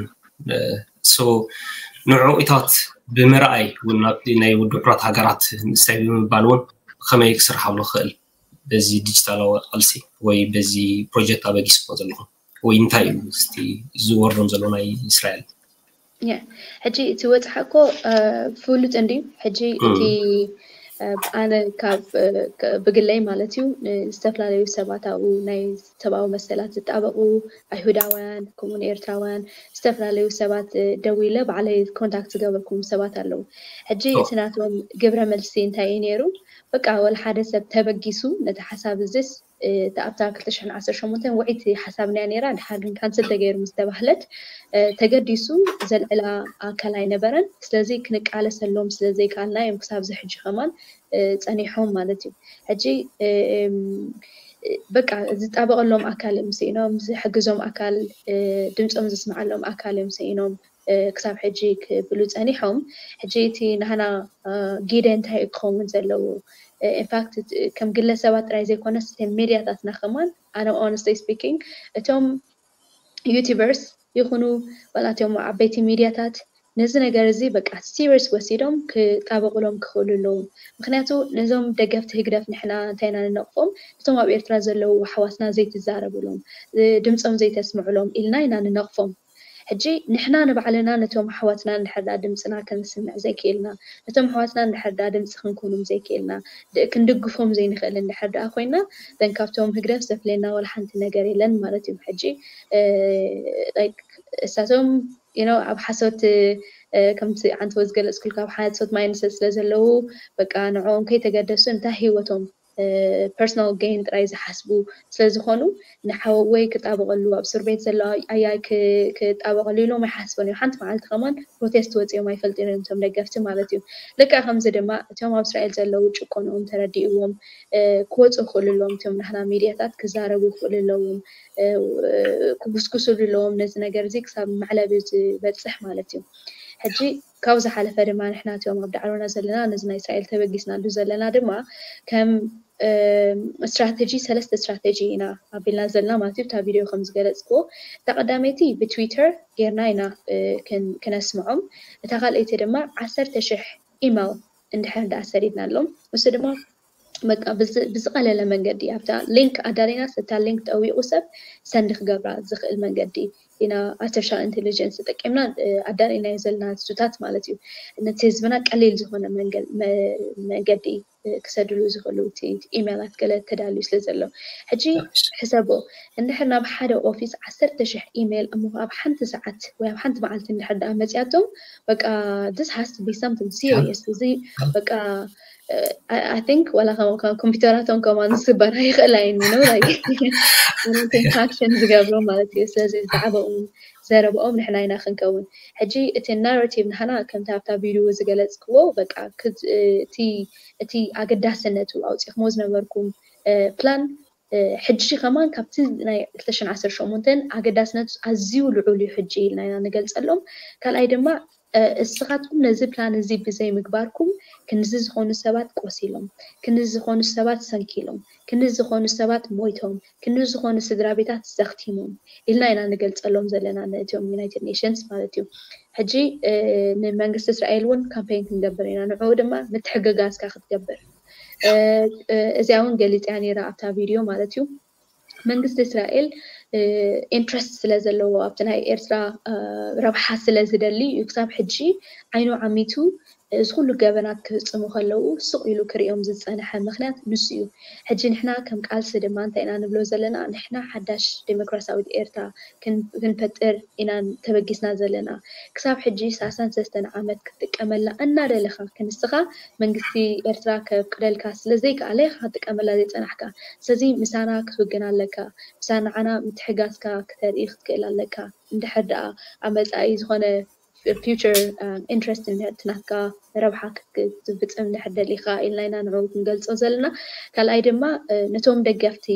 ንዕኡታት ብምርኣይ እውን ናብ ናይ ድሑራት ሃገራት ምስታይ ብምባል እውን ከመይ ክስርሓሉ ክኽእል በዚ ዲጂታላዊ ቃልሲ ወይ በዚ ፕሮጀክት ኣበጊስዎ ዘለኹም ወይ እንታይ እዩ እቲ ዝወርዶም ዘሎ ናይ እስራኤል? ሕጂ እቲ ወፅሓ እኮ ፍሉጥ እንድዩ። ሕጂ እቲ ኣነ ካብ ብግለይ ማለት እዩ ዝተፈላለዩ ሰባት ኣብኡ ናይ ሰብኣዊ መሰላት ዝጣበቁ ኣይሁዳውያን ከምኡን ኤርትራውያን ዝተፈላለዩ ሰባት ደዊለ ባዕለይ ኮንታክት ዝገበርኩም ሰባት ኣለዉ። ሕጂ እቲ ናቶም ግብረ መልሲ እንታይ እዩ ነይሩ? በቃ ወላ ሓደ ሰብ ተበጊሱ ነቲ ሓሳብ እዚስ ኣብታ ክልተ ሽሕን ዓሰርተ ሸሞንተን ውዕይቲ ሓሳብና እያ ነይራ፣ ድሓር ግን ካንስል ተገይሩ ምስ ተባህለት ተገዲሱ ዘልዕላ ኣካል ኣይነበረን። ስለዚ ክንቃለሰሎም ስለ ዘይከኣልና እዮም ክሳብ እዚ ሕጂ ከማን ፀኒሖም ማለት እዩ። ሕጂ በቃ ዝጣበቐሎም ኣካል እዮም ስኢኖም፣ ዝሕግዞም ኣካል ድምፆም ዘስምዓሎም ኣካል እዮም ስኢኖም። ክሳብ ሕጂ ክብሉ ፀኒሖም። ሕጂ እቲ ናህና ጊደ እንታይ እዩ ክኸውን ዘለዎ? ኢንፋክት ከም ግለሰባት ጥራይ ዘይኮነስ ሚድያታትና ከማን ኣነ ኦነስሊ ስፒኪንግ እቶም ዩቲበርስ ይኹኑ ዋላ እቶም ዓበይቲ ሚድያታት ነዚ ነገር እዚ በቃ ሲሪየስ ወሲዶም ክጣበቁሎም ክኽእሉ ኣለዎም። ምክንያቱ ነዞም ደገፍቲ ህግደፍ ንሕና እንታይ ኢና ንነቕፎም? እቶም ኣብ ኤርትራ ዘለዉ ኣሕዋትና ዘይትዛረብሎም ድምፆም ዘይተስምዕሎም ኢልና ኢና ንነቕፎም። ሕጂ ንሕና ንባዕልና ነቶም ኣሕዋትና እንድሕር ደኣ ድምፅና ከነስምዕ ዘይክእልና፣ ነቶም ኣሕዋትና እንድሕር ደኣ ድምፂ ክንኮኖም ዘይክእልና፣ ድ- ክንድግፎም ዘይንኽእል እንድሕር ደኣ ኮይና፣ then ካብቶም ህግደፍ ዘፍልየና ዋላ ሓንቲ ነገር የለን ማለት እዩ። ሕጂ እ፣ like እሳቶም you know ኣብ ሓሶት እ፣ ከምቲ ዓንተቦ ዝገለፅኩልካ ኣብ ሓሶት ማይንድሰት ስለ ዘለዉ በቃ ንዕኦም ከይተገደሱ እንታይ ህይወቶም personal gain ጥራይ ዝሓስቡ ስለ ዝኾኑ ንሓወይ ክጣበቐሉ ኣብ እስር ቤት ዘሎ ኣያይ ክ- ክጣበቐሉ ኢሎም ኣይሓስቡን እዮም። ሓንቲ መዓልቲ ከማን ፕሮቴስት ወፂኦም ኣይፈልጡን እዮም እቶም ደገፍቲ ማለት እዩ። ልክዕ ከምዚ ድማ እቶም ኣብ እስራኤል ዘለዉ ጭቆንኦም ተረዲእዎም እ፣ ክወፁ ይኽእሉ ኣለዎም። እቶም ናህና ሚድያታት ክዛረቡ ይኽእሉ ኣለዎም፣ እ፣ ክጉስጉስሉ ኣለዎም ነዚ ነገር እዚ ክሳብ መዕለቢ ዝበፅሕ ማለት እዩ። ሕጂ ካብ ዝሓለፈ ድማ ንሕና እቶም ኣብ ዳዕሮና ዘለና ነዚ ናይ እስራኤል ተበጊስናሉ ዘለና ድማ ከም ስትራቴጂ ሰለስተ ስትራቴጂ ኢና ኣቢልና ዘለና ማለት እዩ። እታ ቪድዮ ከም ዝገለፅክዎ እታ ቀዳመይቲ ብትዊተር ጌርና ኢና እ፣ ክን- ክነስምዖም። እታ ካልኣይቲ ድማ ዓሰርተ ሽሕ ኢሜል እንድሕር ደኣ ሰዲድናሎም ንሱ ድማ በቃ ብዝ- ብዝቐለለ መንገዲ ኣብታ ሊንክ ኣዳሊናስ እታ ሊንክ ጠዊቑ ሰብ ሰንድ ክገብራ ዝኽእል መንገዲ ኢና ኣርቲፊሻል ኢንቴሊጀንስ ተጠቂምና እ፣ ኣዳሊናዮ ዘለና ንሱታት ማለት እዩ። ነቲ ህዝብና ቀሊል ዝኾነ መንገ- መ- መንገዲ እ፣ ክሰድሉ ዝኽእሉ እቲ ኢሜላት ገለ ተዳልዩ ስለ ዘሎ ሕጂ ሕሰቦ እንድሕር ናብ ሓደ ኦፊስ ዓሰርተ ሽሕ ኢሜል እሞ ኣብ ሓንቲ ሰዓት ወይ ኣብ ሓንቲ መዓልቲ እንድሕር ደኣ መፅያቶም በቃ this has to be something serious እዚ በቃ I think ዋላ ኮምፒውተራቶም ከማን ዝስበራ ይኽእላ እየን you know like ናቶም ፋክሽን ዝገብሩ ማለት እዩ። ስለዚ ዛዕባኦም ዘረብኦም ንሕና ኢና ክንከውን። ሕጂ እቲ ናራቲቭ ናህና ከምቲ ኣብታ ቪድዮ ዝገለፅክዎ በቃ ክት- እቲ እቲ ኣገዳስነቱ ኣውፂኹሞ ዝነበርኩም ፕላን ሕጂ ከማን ካብቲ ናይ ክልተ ሽሕን ዓሰርተ ሸሞንተን ኣገዳስነቱ ኣዝዩ ልዑል እዩ ሕጂ ኢልና ኢና ንገልፀሎም። ካልኣይ ድማ እስኻትኩም ነዚ ፕላን እዚ ብዘይ ምግባርኩም ክንዚ ዝኾኑ ሰባት ቆሲሎም፣ ክንዚ ዝኾኑ ሰባት ሰንኪሎም፣ ክንዚ ዝኾኑ ሰባት ሞይቶም፣ ክንዚ ዝኾኑ ስድራ ቤታት ዘኽቲሞም ኢልና ኢና ንገልፀሎም ዘለና ነእቲኦም ዩናይትድ ኔሽንስ ማለት እዩ። ሕጂ ንመንግስቲ እስራኤል እውን ካምፔን ክንገብር ኢና፣ ንዕኡ ድማ ምትሕግጋዝካ ክትገብር እዚኣ እውን ገሊፅያ ነይራ ኣብታ ቪድዮ ማለት እዩ። መንግስቲ እስራኤል ኢንትረስት ስለ ዘለዎ ኣብቲ ናይ ኤርትራ ረብሓ ስለ ዝደሊ እዩ ክሳብ ሕጂ ዓይኑ ዓሚቱ እዚ ኩሉ ገበናት ክፍፅሙ ከለዉ ስቕ ኢሉ ክርእዮም ዝፀንሐ ምክንያት ንሱ እዩ። ሕጂ ንሕና ከም ቃልሲ ድማ እንታይ ኢና ንብሎ ዘለና? ንሕና ሓዳሽ ዴሞክራሲያዊት ኤርትራ ክንፈጥር ኢና ተበጊስና ዘለና። ክሳብ ሕጂ ሰላሳን ሰለስተን ዓመት ክትጥቀመላ እናደለኻ ክንስኻ መንግስቲ ኤርትራ ከፍቅደልካ ስለ ዘይከኣለ ኢኻ ክትጥቀመላ ዘይጸናሕካ። ስለዚ ምሳና ክትውግን ኣለካ። ምሳና ንዓና ምትሕጋዝካ ክተርኢ ክትክእል ኣለካ። እንድሕር ደኣ ኣብ መጻኢ ዝኾነ ፊውቸር ኢንትረስት ናትካ ረብሓ ክትፍጽም እንድሕር ደሊኻ ኢልና ኢና ንዕኡ ክንገልጾ ዘለና። ካልኣይ ድማ ነቶም ደገፍቲ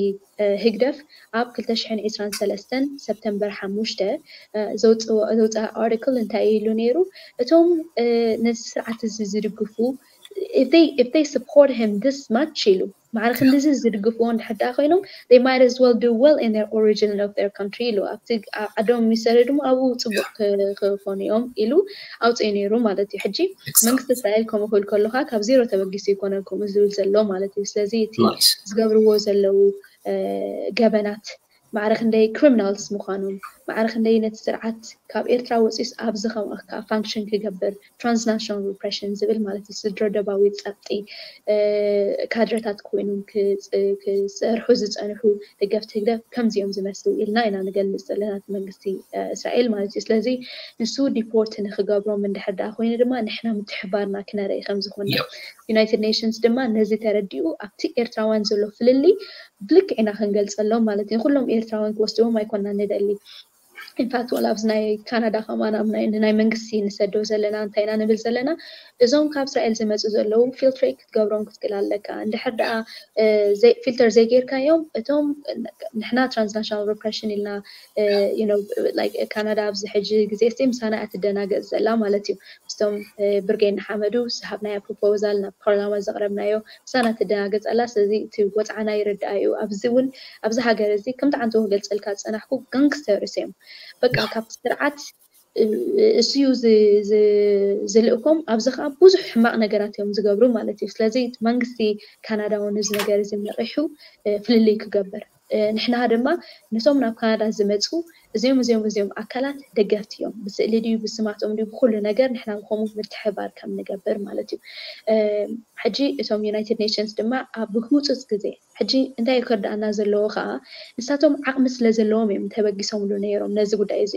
ህግደፍ ኣብ ክልተ ሽሕን ዕስራን ሰለስተን ሰፕተምበር ሓሙሽተ ዘውፅኣ ኣርቲክል እንታይ ኢሉ ነይሩ? እቶም ነዚ ስርዓት እዚ ዝድግፉ if they support him this much ኢሉ ማዕረ ክንድዚ ዝድግፍዎ እንድሕር ደኣ ኮይኖም they might as well do well in their origin of their country ኢሉ ኣብቲ ዓዶም ይሰደዱ እሞ ኣብኡ ፅቡቅ ክኾኑ እዮም ኢሉ ኣውፅኡ ነይሩ ማለት እዩ። ሕጂ መንግስቲ እስራኤል ከምኡ ክብል ከለካ ካብ ዜሮ ተበጊሱ ይኮነን ከምኡ ዝብል ዘሎ ማለት እዩ። ስለዚ እቲ ዝገብርዎ ዘለዉ ገበናት ማዕረ ክንደይ ክሪሚናልስ ምዃኖም ማዕረ ክንደይ ነቲ ስርዓት ካብ ኤርትራ ወፂኡስ ኣብዚ ከም ፋንክሽን ክገብር ትራንስናሽናል ሪፕሬሽን ዝብል ማለት እዩ። ስድረ ደባዊ ፀቕጢ ካድረታት ኮይኖም ክሰርሑ ዝፀንሑ ደገፍቲ ህግደፍ ከምዚኦም ዝመስሉ ኢልና ኢና ንገልፅ ዘለና እቲ መንግስቲ እስራኤል ማለት እዩ። ስለዚ ንሱ ዲፖርት ንክገብሮም እንድሕር ደኣ ኮይኑ ድማ ንሕና ምትሕባርና ክነርኢ ከምዝኮና ዩናይትድ ኔሽንስ ድማ ነዚ ተረዲኡ ኣብቲ ኤርትራውያን ዘሎ ፍልልይ ብልክዕ ኢና ክንገልፀሎም ማለት እዩ። ኩሎም ኤርትራውያን ክወስድዎም ኣይኮና ንደሊ። ኢንፋክት ዋላ ኣብዚ ናይ ካናዳ ከማን ኣብ ናይ መንግስቲ ንሰዶ ዘለና እንታይ ኢና ንብል ዘለና እዞም ካብ እስራኤል ዝመፁ ዘለዉ ፊልትሬ ክትገብሮም ክትክእል ኣለካ። እንድሕር ደኣ ፊልተር ዘይጌርካዮም እቶም ንሕና ትራንስናሽናል ሪፕሬሽን ኢልና ካናዳ ኣብዚ ሕጂ ግዜ ስ ምሳና እያ ትደናገፅ ዘላ ማለት እዩ። ምስቶም ብርጌድ ንሓመዱ ዝሃብናዮ ፕሮፖዛል ናብ ፓርላማ ዘቕረብናዮ ምሳና ትደናገፅ ኣላ። ስለዚ እቲ ወፅዓና ይርድኣ እዩ። ኣብዚ እውን ኣብዚ ሃገር እዚ ከምቲ ዓንተቦ ክገልፀልካ ዝፀናሕኩ ጋንግስተርስ እዮም። በቃ ካብቲ ስርዓት እሱ እዩ ዝልእኮም። ኣብዚ ከዓ ብዙሕ ሕማቕ ነገራት እዮም ዝገብሩ ማለት እዩ። ስለዚ መንግስቲ ካናዳ እውን እዚ ነገር እዚ ነቒሑ ፍልልይ ክገብር ንሕና ድማ ነቶም ናብ ካናዳ ዝመፁ እዚኦም እዚኦም እዚኦም ኣካላት ደገፍቲ እዮም። ብስእሊ ድዩ ብስማቶም ድዩ ብኩሉ ነገር ንሕና ከምኡ ምትሕባር ከም ንገብር ማለት እዩ። ሕጂ እቶም ዩናይትድ ኔሽንስ ድማ ኣብ ህውፅፅ ግዜ ሕጂ እንታይ ክርዳእና ዘለዎ ከዓ ንሳቶም ዓቕሚ ስለ ዘለዎም እዮም ተበጊሶምሉ ነይሮም ነዚ ጉዳይ እዚ።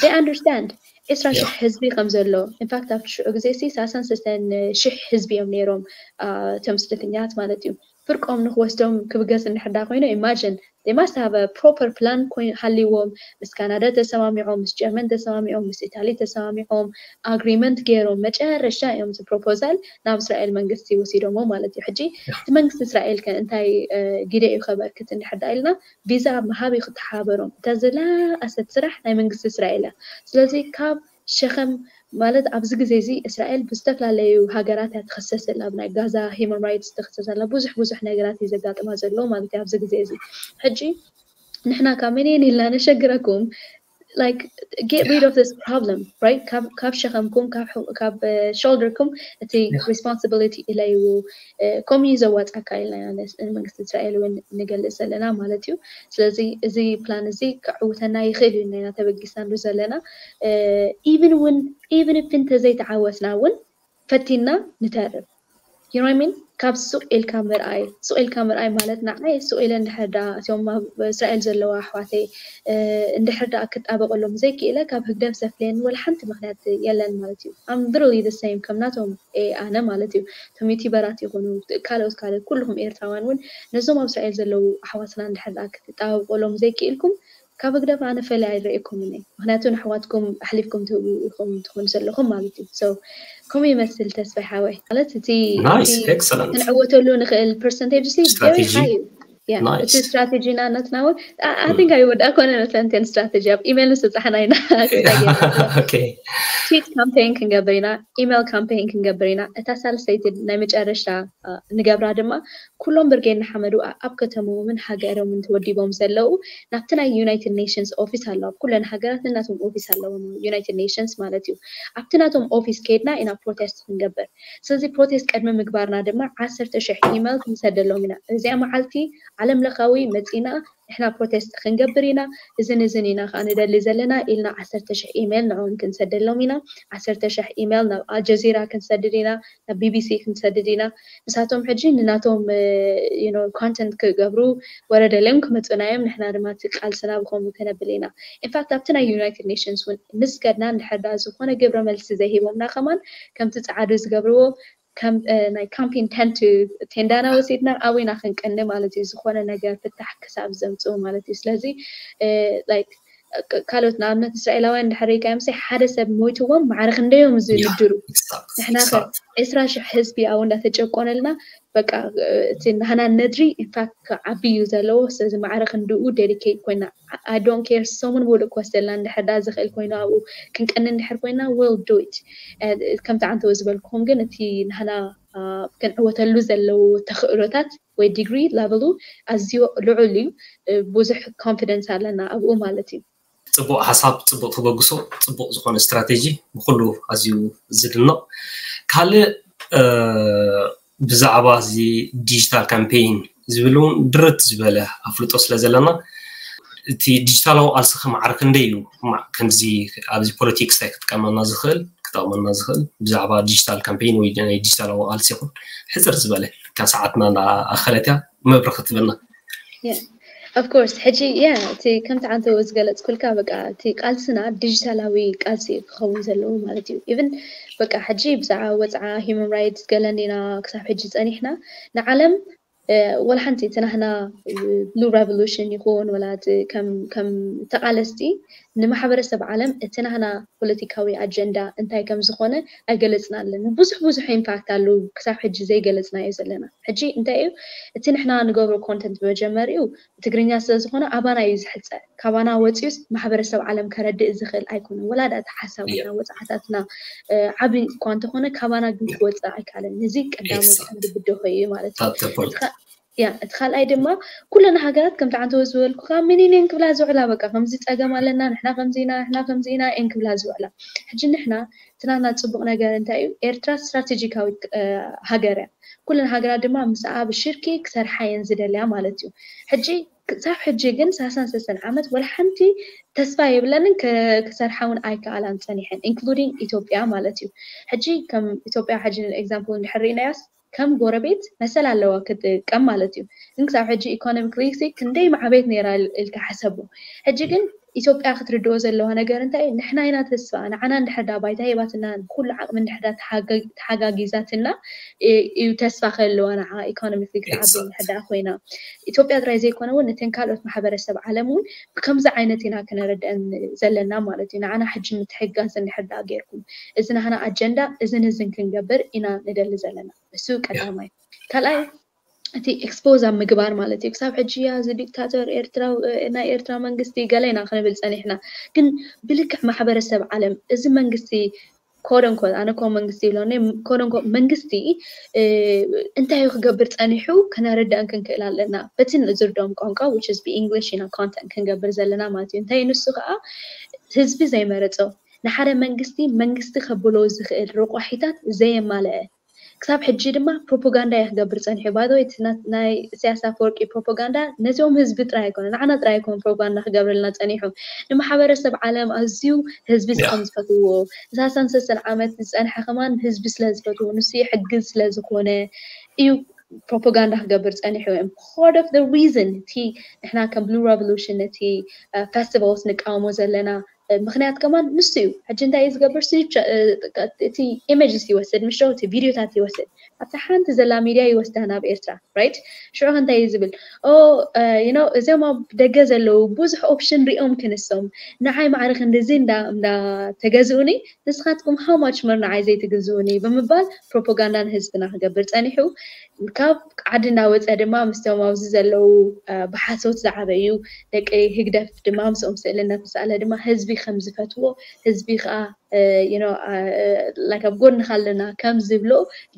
They understand ዕስራ ሽሕ ህዝቢ ከም ዘሎ። ኢንፋክት ኣብቲ ሽዑ ግዜ ሲ ሰላሳን ሰለስተን ሽሕ ህዝቢ እዮም ነይሮም እቶም ስደተኛታት ማለት እዩ። ፍርቆም ንክወስዶም ክብገስ እንድሕር ዳ ኮይኑ imagine they must have a proper plan ሃልይዎም ምስ ካናዳ ተሰማሚዖም ምስ ጀርመን ተሰማሚዖም ምስ ኢታሊ ተሰማሚዖም ኣግሪመንት ገይሮም መጨረሻ እዮም እዚ ፕሮፖዛል ናብ እስራኤል መንግስቲ ወሲዶሞ ማለት እዩ። ሕጂ እቲ መንግስቲ እስራኤል ከ እንታይ ግደ እዩ ከበርክት እንድሕር ዳ ኢልና ቪዛ ምሃብ እዩ ክተሓበሮም። እታ ዝለኣሰት ስራሕ ናይ መንግስቲ እስራኤል እያ። ስለዚ ካብ ሸኸም ማለት ኣብዚ ግዜ እዚ እስራኤል ብዝተፈላለዩ ሃገራት እያ ትኽሰስ ዘላ። ኣብ ናይ ጋዛ ሂማን ራይትስ ትኽሰስ ዘላ። ብዙሕ ብዙሕ ነገራት እዩ ዘጋጥማ ዘሎ ማለት እዩ ኣብዚ ግዜ እዚ። ሕጂ ንሕና ካብ መን እየን ኢልና ነሸግረኩም like get rid of this problem right? ካብ ሸኸምኩም ካብ ሾልደርኩም እቲ responsibility ኢለይዎ ከምኡ እዩ ዘዋፃካ ኢልና ኢና ንመንግስቲ እስራኤል እውን ንገልፅ ዘለና ማለት እዩ። ስለዚ እዚ ፕላን እዚ ክዕውተና ይኽእል እዩ ኢልና ኢና ተበጊስናሉ ዘለና። ኢቭን እውን ኢቭን እፍ እንተዘይተዓወትና እውን ፈቲና ንተርፍ። You know what I mean? ካብ ሱቕ ኢልካ ምርኣይ ሱቕ ኢልካ ምርኣይ ማለት ንዓይ ሱቕ ኢለ እንድሕር ዳ እቶም ኣብ እስራኤል ዘለዋ ኣሕዋተይ እንድሕር ዳ ክጣበቀሎም ዘይክእለ ካብ ህግደፍ ዘፍለየኒ ወላ ሓንቲ ምክንያት የለን ማለት እዩ። I'm literally the same ከም ናቶም ኣነ ማለት እዩ። እቶም ዩቲበራት ይኹኑ ካልኦት ካልኦት ኩልኹም ኤርትራውያን እውን ነዞም ኣብ እስራኤል ዘለዉ ኣሕዋትና እንድሕር ዳ ክትጣበቀሎም ዘይክእልኩም ካብ ህግደፍ ኣነ ፈለ ኣይረእየኩምን እየ። ምክንያቱ ንኣሕዋትኩም ኣሕሊፍኩም ትህቡ ኢኹም ትኾኑ ዘለኹም ማለት እዩ። So ከምኡ ይመስል ተስፋይ ሓወይ ማለት እቲ Nice, excellent. ክንዕወተሉ ንኽእል ፐርሰንቴጅ ሲ very Strategy. high እዩ። Yeah, Nice. እቲ ስትራቴጂ ና not now I think ኣይወድኣ ኮነ መሰለንቴን ስትራቴጂ ኣብ ኢሜይል ንስብፃሕና ኢና Okay. ትዊት ካምፔን ክንገብር ኢና ኢሜይል ካምፔን ክንገብር ኢና እታ ሳልሰይቲ ናይ መጨረሻ ንገብራ ድማ ኩሎም ብርጌድ ንሓመዱ ኣብ ከተሞምን ሃገሮምን ተወዲቦም ዘለዉ ናብቲ ናይ ዩናይትድ ኔሽንስ ኦፊስ ኣለዉ ኣብ ኩለን ሃገራት ነናቶም ኦፊስ ኣለዎም ዩናይትድ ኔሽንስ ማለት እዩ ኣብቲ ናቶም ኦፊስ ከይድና ኢና ፕሮቴስት ክንገብር ስለዚ ፕሮቴስት ቅድሚ ምግባርና ድማ ዓሰርተ ሽሕ ኢሜይል ክንሰደሎም ኢና እዚኣ መዓልቲ ዓለም ለኻዊ መፂና ንሕና ፕሮቴስት ክንገብር ኢና እዝን እዝን ኢና ከዓ ንደሊ ዘለና ኢልና ዓሰርተ ሽሕ ኢሜይል ንዕኦም ክንሰደሎም ኢና ዓሰርተ ሽሕ ኢሜይል ናብ ኣልጀዚራ ክንሰድድ ኢና ናብ ቢቢሲ ክንሰድድ ኢና ንሳቶም ሕጂ ንናቶም ኮንተንት ክገብሩ ወረደልዮም ክመፁና እዮም ንሕና ድማ እቲ ቃልስና ብከምኡ ከነብል ኢና ኢንፋክት ኣብቲ ናይ ዩናይትድ ኔሽንስ እውን ምስ ከድና እንድሕር ዳ ዝኾነ ግብረ መልሲ ዘይሂቦምና ከማን ከምቲ ፀዓዱ ዝገብርዎ ከም ናይ ካምፒን ተንት ቴንዳና ወሲድና ኣብና ክንቀኒ ማለት እዩ ዝኾነ ነገር ፍታሕ ክሳብ ዘምፅኡ ማለት እዩ ስለዚ ካልኦት ንኣብነት እስራኤላውያን እንድሕር ሪኢካዮም ሓደ ሰብ ሞይትዎም ማዕረ ክንደዮም ዝምድሩ ንሕና ከ ዕስራ ሽሕ ህዝቢ ኣብኡ እንዳተጨቆነልና በቃ እቲ ናህና ነድሪ ኢንፋክት ክዓቢ እዩ ዘለዎ ስለዚ ማዕረ ክንድኡ ዴዲኬት ኮይና I don't care ሰሙን ሙሉእ ክወስደልና እንድሕር ዳ ዝኽእል ኮይኑ ኣብኡ ክንቀኒ እንድሕር ኮይና we'll do it ከምቲ ዓንተወ ዝበልኩኹም ግን እቲ ናህና ክንዕወተሉ ዘለዉ ተኽእሎታት ወይ ዲግሪ ላቨሉ ኣዝዩ ልዑል እዩ ብዙሕ ኮንፊደንስ ኣለና ኣብኡ ማለት እዩ ፅቡቅ ሓሳብ ፅቡቅ ተበግሶ ፅቡቅ ዝኾነ ስትራቴጂ ብኩሉ ኣዝዩ ዝድነቕ ካልእ ብዛዕባ እዚ ዲጂታል ካምፔይን ዝብል እውን ድርት ዝበለ ኣፍልጦ ስለ ዘለና እቲ ዲጂታላዊ ቃልሲ ከማዕረ ክንደይ እዩ ከምዚ ኣብዚ ፖለቲክስ እንታይ ክጥቀመና ዝኽእል ክጠቕመና ዝኽእል ብዛዕባ ዲጂታል ካምፔይን ወይ ናይ ዲጂታላዊ ቃልሲ ይኹን ሕፅር ዝበለ ካብ ሰዓትና ኣኸለትያ መብርኺ ትበልና of course ሕጂ ያ እቲ ከምቲ ዓንተ ዝገለፅኩልካ በቃ እቲ ቃልስና ዲጂታላዊ ቃልሲ ክኸውን ዘለዎ ማለት እዩ ኢቭን በቃ ሕጂ ብዛዕባ ወፅዓ ሂማን ራይትስ ገለኒና ክሳብ ሕጂ ፀኒሕና ንዓለም ወላ ሓንቲ እቲ ናህና ብሉ ሬቮሉሽን ይኹን ወላ ከም ተቃለስቲ ንማሕበረሰብ ዓለም እቲ ናህና ፖለቲካዊ ኣጀንዳ እንታይ ከም ዝኾነ ኣይገለፅናለን ብዙሕ ብዙሕ ኢምፓክት ኣለዉ ክሳብ ሕጂ ዘይገለፅናዮ ዘለና ሕጂ እንታይ እዩ እቲ ንሕና ንገብሮ ኮንተንት መጀመሪኡ ብትግርኛ ስለ ዝኾነ ኣባና እዩ ዝሕፀ ካባና ወፂኡስ ማሕበረሰብ ዓለም ከረድእ ዝኽእል ኣይኮነን ወላ ዳኣ እቲ ሓሳባትና ወፅዓታትና ዓብይ እኳ እንተኾነ ካባና ግን ክወፅእ ኣይካለን እዚ ቀዳማይ ቀንዲ ብደሆ እዩ ማለት እዩ ያ እቲ ካልኣይ ድማ ኩለን ሃገራት ከምቲ ዓንተወ ዝበልኩካ ሚኒን እየን ክብላ ዝውዕላ በቃ ከምዚ ፀገም ኣለና ንሕና ከምዚ ኢና ንሕና ከምዚ ኢና እየን ክብላ ዝውዕላ ሕጂ ንሕና እቲ ናትና ፅቡቅ ነገር እንታይ እዩ ኤርትራ ስትራቴጂካዊት ሃገር እያ ኩለን ሃገራት ድማ ምስኣ ብሽርኪ ክሰርሓ እየን ዝደልያ ማለት እዩ ሕጂ ክሳብ ሕጂ ግን ሳሳን ሰሰን ዓመት ወላ ሓንቲ ተስፋ የብለንን። ክሰርሓ እውን ኣይከኣላን ፀኒሐን፣ including ኢትዮጵያ ማለት እዩ። ሕጂ ከም ኢትዮጵያ ሕጂ example እንድሕር ርኢናያስ ከም ጎረቤት መሰል ኣለዋ ክትጥቀም ማለት እዩ። ግን ክሳብ ሕጂ economically ክንደይ ማዕበየት ነይራ ኢልካ ሓሰቡ። ሕጂ ግን ኢትዮጵያ ክትርድኦ ዘለዋ ነገር እንታይ እዩ? ንሕና ኢና ተስፋ፣ ንዓና እንድሕር ዳ ባይታ ሂባትና፣ ብኩሉ ዓቕሚ እንድሕር ዳ ተሓጋጊዛትና እዩ ተስፋ ከለዋ ንዓ economically ክትዓቢ እንድሕር ዳ ኮይና። ኢትዮጵያ ጥራይ ዘይኮነ እውን ነተን ካልኦት ማሕበረሰብ ዓለም እውን ብከምዚ ዓይነት ኢና ክነረድአን ዘለና ማለት እዩ። ንዓና ሕጂ ምትሕጋዝ እንድሕር ዳ ጌርኩም፣ እዚ ናህና ኣጀንዳ እዝን እዝን ክንገብር ኢና ንደሊ ዘለና። እሱ ቀዳማይ። ካልኣይ እቲ expose ኣብ ምግባር ማለት እዩ። ክሳብ ሕጂ እያ እዚ ዲክታተር ኤርትራ፣ ናይ ኤርትራ መንግስቲ ገለ ኢና ክንብል ጸኒሕና። ግን ብልክዕ ማሕበረሰብ ዓለም እዚ መንግስቲ quote unquote፣ ኣነ ኮ መንግስቲ ይብሎ፣ quote unquote መንግስቲ እንታይ እዩ ክገብር ጸኒሑ ከነረዳእን ክንክእል ኣለና። በቲ ንዝርዶም ቋንቋ which is ብእንግሊሽ ኢና content ክንገብር ዘለና ማለት እዩ። እንታይ ንሱ ከዓ ህዝቢ ዘይመረጾ ንሓደ መንግስቲ መንግስቲ ከብሎ ዝኽእል ረቋሒታት ዘየማለአ ክሳብ ሕጂ ድማ ፕሮፓጋንዳ እዩ ክገብር ጸኒሑ። ባይዘወይ ናይ ኢሳያስ ኣፈወርቂ ፕሮፓጋንዳ ነዚኦም ህዝቢ ጥራይ ኣይኮነ፣ ንዓና ጥራይ ኣይኮነ ፕሮፓጋንዳ ክገብረልና ጸኒሑ። ንማሕበረሰብ ዓለም ኣዝዩ ህዝቢ ከም ዝፈትዎ፣ ንሳሳን ሰሰን ዓመት ዝጸንሐ ከማን ህዝቢ ስለ ዝፈትዎ፣ ንሱ ይሕግዝ ስለ ዝኾነ እዩ ፕሮፓጋንዳ ክገብር ጸኒሑ። And part of the reason እቲ ንሕና ከም Blue Revolution ነቲ festivals ንቃወሞ ዘለና ምክንያት ከማን ንሱ እዩ። ሕጂ እንታይ እዩ ዝገብር? እቲ images ይወስድ፣ ምሽ እቲ ቪድዮታት ይወስድ፣ ኣብታ ሓንቲ ዘላ ሚድያ ይወስዳ ናብ ኤርትራ፣ right? ሽዑ እንታይ እዩ ዝብል? ኦ you know እዚኦም ኣብ ደገ ዘለዉ ብዙሕ ኦፕሽን ሪኦም ክንሶም፣ ንዓይ ማዕረ ክንድዚ እንዳ እንዳ ተገዝኡኒ፣ ንስኻትኩም how much more ንዓይ ዘይትግዝኡኒ ብምባል ፕሮፓጋንዳ ንህዝብና ክገብር ጸኒሑ። ካብ ዓዲ እናወፀ ድማ ምስቶም ኣብዚ ዘለዉ ብሓሶት ዝዓበዩ ደቂ ህግደፍ ድማ ምስኦም ስእሊ እናተሳእለ ድማ ህዝቢ ከም ዝፈትዎ፣ ህዝቢ ከዓ like ኣብ ጎንኻ ኣለና ከም ዝብሎ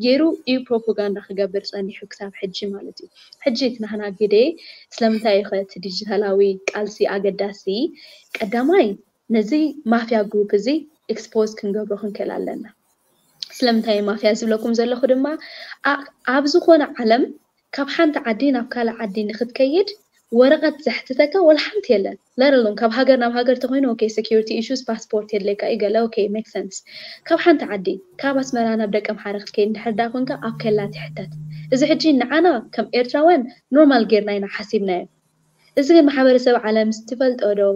ገይሩ እዩ ፕሮፓጋንዳ ክገብር ጸኒሑ ክሳብ ሕጂ ማለት እዩ። ሕጂ እቲ ናህና ግደ ስለምንታይ እዩ ከ እቲ ዲጂታላዊ ቃልሲ ኣገዳሲ? ቀዳማይ ነዚ ማፍያ ግሩፕ እዚ expose ክንገብሮ ክንክእል ኣለና። ስለምንታይ ማፍያ ዝብለኩም ዘለኹ ድማ ኣብ ዝኾነ ዓለም ካብ ሓንቲ ዓዲ ናብ ካልእ ዓዲ ንክትከይድ ወረቐት ዘሕትተካ ወላ ሓንቲ የለን። ለረሎም ካብ ሃገር ናብ ሃገር ተኮይኑ okay security issues ፓስፖርት የድለካ እዩ ገለ okay make sense። ካብ ሓንቲ ዓዲ ካብ ኣስመራ ናብ ደቀምሓረ ክትከይድ እንድሕር ዳ ኮንካ ኣብ ከላ ትሕተት። እዚ ሕጂ ንዓና ከም ኤርትራውያን ኖርማል ጌርና ኢና ሓሲብናዮ። እዚ ግን ማሕበረሰብ ዓለም ዝትፈልጦ ዶ?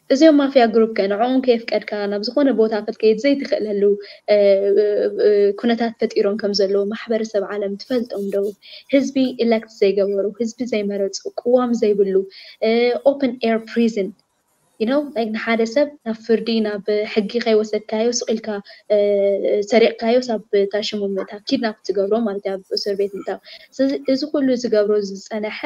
እዚኦም ማፍያ ግሩፕ ከ ንዕኦም ከየፍቀድካ ናብ ዝኾነ ቦታ ክትከይድ ዘይትኽእለሉ ኩነታት ፈጢሮም ከም ዘለዉ ማሕበረሰብ ዓለም ትፈልጦም ዶ? ህዝቢ ኢለክት ዘይገበሩ፣ ህዝቢ ዘይመረፁ፣ ቅዋም ዘይብሉ open air prison you know like ንሓደ ሰብ ናብ ፍርዲ ናብ ሕጊ ከይወሰድካዮ ስቕ ኢልካ ሰሪቕካዮ ሳብ ታሽሙ ምእታ ኪድናፕ ትገብሮ ማለት እዩ ኣብ እስር ቤት ምእታው። ስለዚ እዚ ኩሉ ዝገብሮ ዝፀነሐ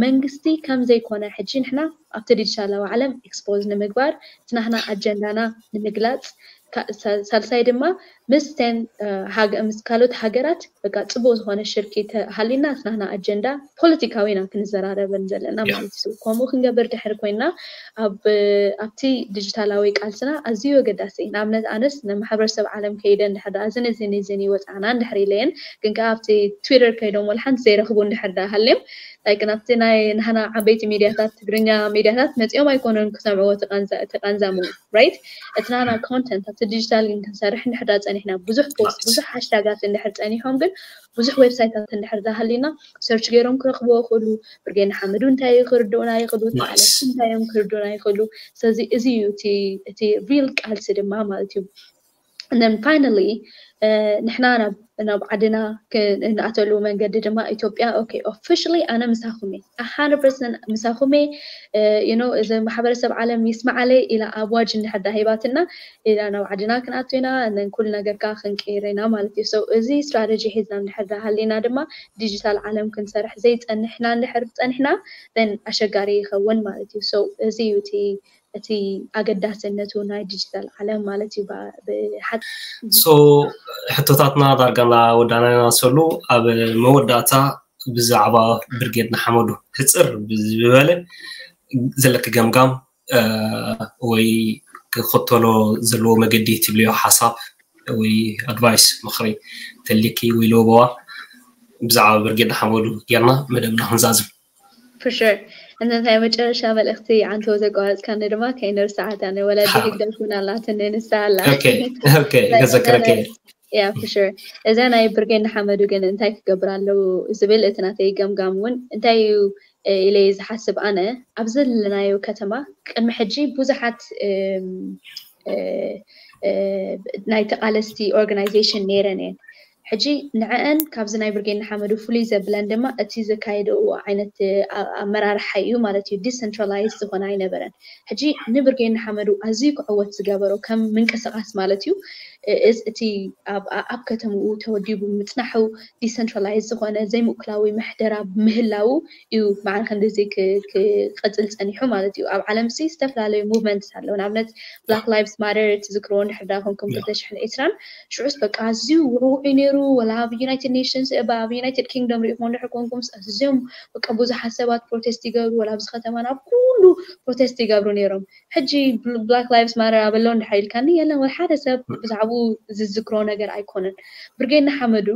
መንግስቲ ከም ዘይኮነ ሕጂ ንሕና ኣብቲ ዲጂታላዊ ዓለም ኤክስፖዝ ንምግባር እቲ ናህና ኣጀንዳና ንምግላፅ ሳልሳይ ድማ ምስ ተን ምስ ካልኦት ሃገራት በቃ ፅቡቅ ዝኾነ ሽርኪ ተሃሊና እቲ ናህና ኣጀንዳ ፖለቲካዊ ኢና ክንዘራረበን ዘለና ማለት እዩ። ከምኡ ክንገብር ድሕር ኮይና ኣብቲ ዲጂታላዊ ቃልስና ኣዝዩ ኣገዳሲ እዩ። ንኣብነት ኣነስ ንማሕበረሰብ ዓለም ከይደ እንድሕር ደኣ እዝን እዝን እዝን ይወፃና እንድሕር ኢለየን ግን ከዓ ኣብቲ ትዊተር ከይዶም ወላ ሓንቲ ዘይረኽቡ እንድሕር ደኣ ሃልዮም like ናብቲ ናይ ናህና ዓበይቲ ሚድያታት ትግርኛ ሚድያታት መፂኦም ኣይኮኑን ክሰምዕዎ ተቃንዛሙ right እቲ ናና ኮንተንት ኣብቲ ዲጂታል ግን ክንሰርሕ እንድሕር ደኣ ፀኒሕና ብዙሕ ፖስት ብዙሕ ሃሽታጋት እንድሕር ፀኒሖም ግን ብዙሕ ዌብሳይታት እንድሕር ደኣ ሃሊና ሰርች ገይሮም ክረኽብዎ ይኽእሉ። ብርጌድ ንሓመዱ እንታይ እዩ ክርድኡና ይኽእሉ፣ ተቓለስቲ እንታይ እዮም ክርድኡና ይኽእሉ። ስለዚ እዚ እዩ እቲ ሪል ቃልሲ ድማ ማለት እዩ። And then finally ንሕና ናብ ዓድና እንኣተሉ መንገዲ ድማ ኢትዮጵያ okay officially ኣነ ምሳኹም እየ one hundred percent ምሳኹም እየ you know እዚ ማሕበረሰብ ዓለም ይስማዓለይ ኢላ ኣዋጅ እንድሕር ዳ ሂባትና ኢላ ናብ ዓድና ክንኣቱ ኢና and then ኩሉ ነገር ከዓ ክንቅይር ኢና ማለት እዩ። So እዚ ስትራተጂ ሒዝና እንድሕር ዳ ሃሊና ድማ ዲጂታል ዓለም ክንሰርሕ ዘይፀንሕና እንድሕር ፀኒሕና then ኣሸጋሪ ይኸውን ማለት እዩ። So እዚ እዩ እቲ እቲ ኣገዳስነቱ ናይ ዲጂታል ዓለም ማለት እዩ። ብሓቂ so ሕቶታትና ዳርጋ እናወዳእና ኢና ሰሉ ኣብ መወዳእታ ብዛዕባ ብርጌድ ንሓመዱ ሕፅር ብዝበለ ዘለኪ ገምጋም ወይ ክኽተሎ ዘለዎ መገዲ ትብልዮ ሓሳብ ወይ ኣድቫይስ ምኽሪ ተልኪ ወይ ለበዋ ብዛዕባ ብርጌድ ንሓመዱ ጌርና መደብና ክንዛዝም። For sure እነታይ መጨረሻ መልእኽቲ ኣንተ ዘቋረጽካኒ ድማ ከይንርስዓታ፣ ናይ ወላዲ ሓ- ህግደፍ እውን ኣላትኒ፣ ንሳ ኣላ። ኦኬ ኦኬ፣ ከዘክረኪ እየ። Yeah, for sure። እዛ ናይ ብርጌድ ንሓመዱ ግን እንታይ ክገብር ኣለዎ ዝብል እቲ ናተይ ገምጋም እውን እንታይ እዩ፣ እ፣ ኢለ ዝሓስብ ኣነ። ኣብዚ ዘለናዮ ከተማ ቅድሚ ሕጂ ብዙሓት፣ እም፣ እ፣ እ፣ ናይ ተቓለስቲ ኦርጋናይዜሽን ነይረን እየን። ሕጂ ንዐአን ካብዚ ናይ ብርጌድ ንሓመዱ ፍሉይ ዘብለን ድማ እቲ ዘካየደዎ ዓይነት፣ እ፣ ኣ- ኣመራርሓ እዩ ማለት እዩ። ዲሰንትራላይዝ ዝኾነ ኣይነበረን። ሕጂ ንብርጌድ ንሓመዱ ኣዝዩ ክዕወት ዝገበሮ ከም ምንቅስቃስ ማለት እዩ፣ እ፣ እዝ- እቲ ኣብ ኣ- ኣብ ከተምኡ ተወዲቡ ምጽናሑ፣ ዲሰንትራላይዝ ዝኾነ ዘይምእኩላዊ ምሕደራ ምህላው እዩ መዓር ክንድዚ ክ- ክቕጽል ጸኒሑ ማለት እዩ። ኣብ ዓለም ሲ ዝተፈላለዩ ሙቭመንትስ ኣለዉ። ንኣብነት ብላክ ላይቭስ ማተር ትዝክርዎ እንድሕር ዳ ኮንኩም ክልተ ሽሕን ዕስራን ሽዑስ በቃ ኣዝዩ ውዕውዕ እዩ ነይሩ። ወላ ኣብ ዩናይትድ ኔሽንስ እባ ኣብ ዩናይትድ ኪንግደም ሪኢኹም እንድሕር ኮንኩም ኣዝዮም በቃ ብዙሓት ሰባት ፕሮቴስት ይገብሩ፣ ወላ ኣብዚ ከተማና ኣብ ኩሉ ፕሮቴስት ይገብሩ ነይሮም። ሕጂ ብላክ ላይቭስ ማተር ኣበሎ እንድሕር ኢልካኒ የለን፣ ወላ ሓደ ሰብ ብዛዕባኡ ዝዝክሮ ነገር ኣይኮነን። ብርጌድ ንሓመዱ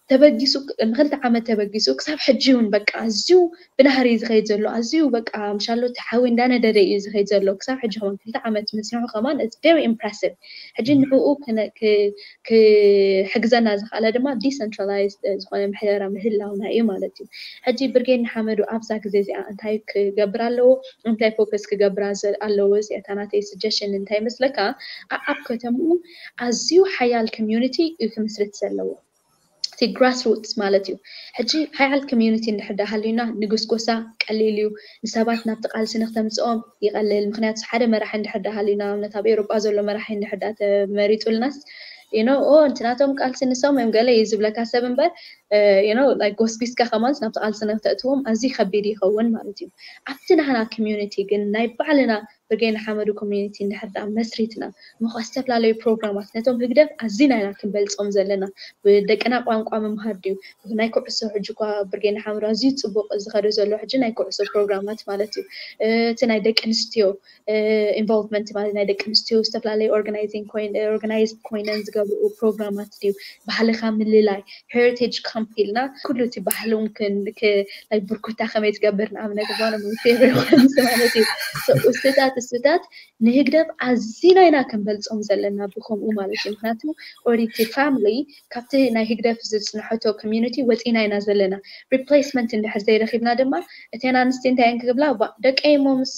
ተበጊሱ ንክልተ ዓመት ተበጊሱ ክሳብ ሕጂ እውን በቃ ኣዝዩ ብናህሪ ዝኸይድ ዘሎ ኣዝዩ በቃ ምሻሎ እቲ ሓዊ እንዳነደደ እዩ ዝኸይድ ዘሎ። ክሳብ ሕጂ ከማን ክልተ ዓመት ምጽንሑ ከማን it's very impressive። ሕጂ ንዕኡ ክነ- ክ- ክሕግዘና ዝኽኣለ ድማ ዲሰንትራላይዝ ዝኾነ ምሕደራ ምህላውና እዩ ማለት እዩ። ሕጂ ብርጌድ ንሓመዱ ኣብዛ ግዜ እዚኣ እንታይ ክገብር ኣለዎ፣ እንታይ ፎከስ ክገብር ኣዘ- ኣለዎ? እዚኣታ ናተይ ስጀሽን እንታይ ይመስለካ? ኣ- ኣብ ከተምኡ ኣዝዩ ሓያል ኮሚዩኒቲ እዩ ክምስርት ዘለዎ። እቲ ግራስ ሩትስ ማለት እዩ። ሕጂ ሓያል ኮሚዩኒቲ እንድሕር ዳ ሃልዩና ንጉስጎሳ ቀሊል እዩ። ንሰባት ናብቲ ቃልሲ ንክተምፅኦም ይቐልል። ምክንያቱ ሓደ መራሒ እንድሕር ዳ ሃልዩና፣ ኣብነት ኣብ ኤውሮጳ ዘሎ መራሒ እንድሕር ዳ ተመሪጡልናስ you know ኦ እንትናቶም ቃልሲ ንሶም እዮም ገለ እዩ ዝብለካ ሰብ እምበር you know like ጎስጒስካ ከማንስ ናብቲ ቃልሲ ንክተእትዎም ኣዝዩ ከቢድ ይኸውን ማለት እዩ። ኣብቲ ናህና ኮሚዩኒቲ ግን ናይ ባዕልና ብርጌድ ንሓመዱ ኮሚዩኒቲ እንድሕር ዳ መስሪትና ምኳ ዝተፈላለዩ ፕሮግራማት ነቶም ህግደፍ ኣዚና ኢና ክንበልፆም ዘለና። ብደቅና ቋንቋ ምምሃር ድዩ? ናይ ኩዕሶ ሕጂ እኳ ብርጌድ ንሓመዱ ኣዝዩ ፅቡቅ ዝኸደ ዘሎ ሕጂ ናይ ኩዕሶ ፕሮግራማት ማለት እዩ። እቲ ናይ ደቂ ኣንስትዮ ኢንቮልቭመንት ማለት ናይ ደቂ ኣንስትዮ ዝተፈላለዩ ኦርጋናይዚንግ ኮይን ኦርጋናይዝድ ኮይነን ዝገብርኡ ፕሮግራማት ድዩ? ባህልካ ምልላይ ሄሪቴጅ ካምፕ ኢልና ኩሉ እቲ ባህሎም ክን- ክ- ናይ ብርኩታ ከመይ ትገብር ንኣብነት ጓነ ሞቴሪ ማለት እዩ። So እሱታት እሱታት ንህግደፍ ኣዚና ኢና ክንበልፆም ዘለና ብከምኡ ማለት እዩ። ምክንያቱ ኦሪቲ ፋሚሊ ካብቲ ናይ ህግደፍ ዝፅንሐቶ ኮሚዩኒቲ ወፂና ኢና ዘለና። ሪፕሌስመንት እንድሕር ዘይረኪብና ድማ እተን ኣንስቲ እንታይ እየን ክብላ ባ ደቀይ እሞ ምስ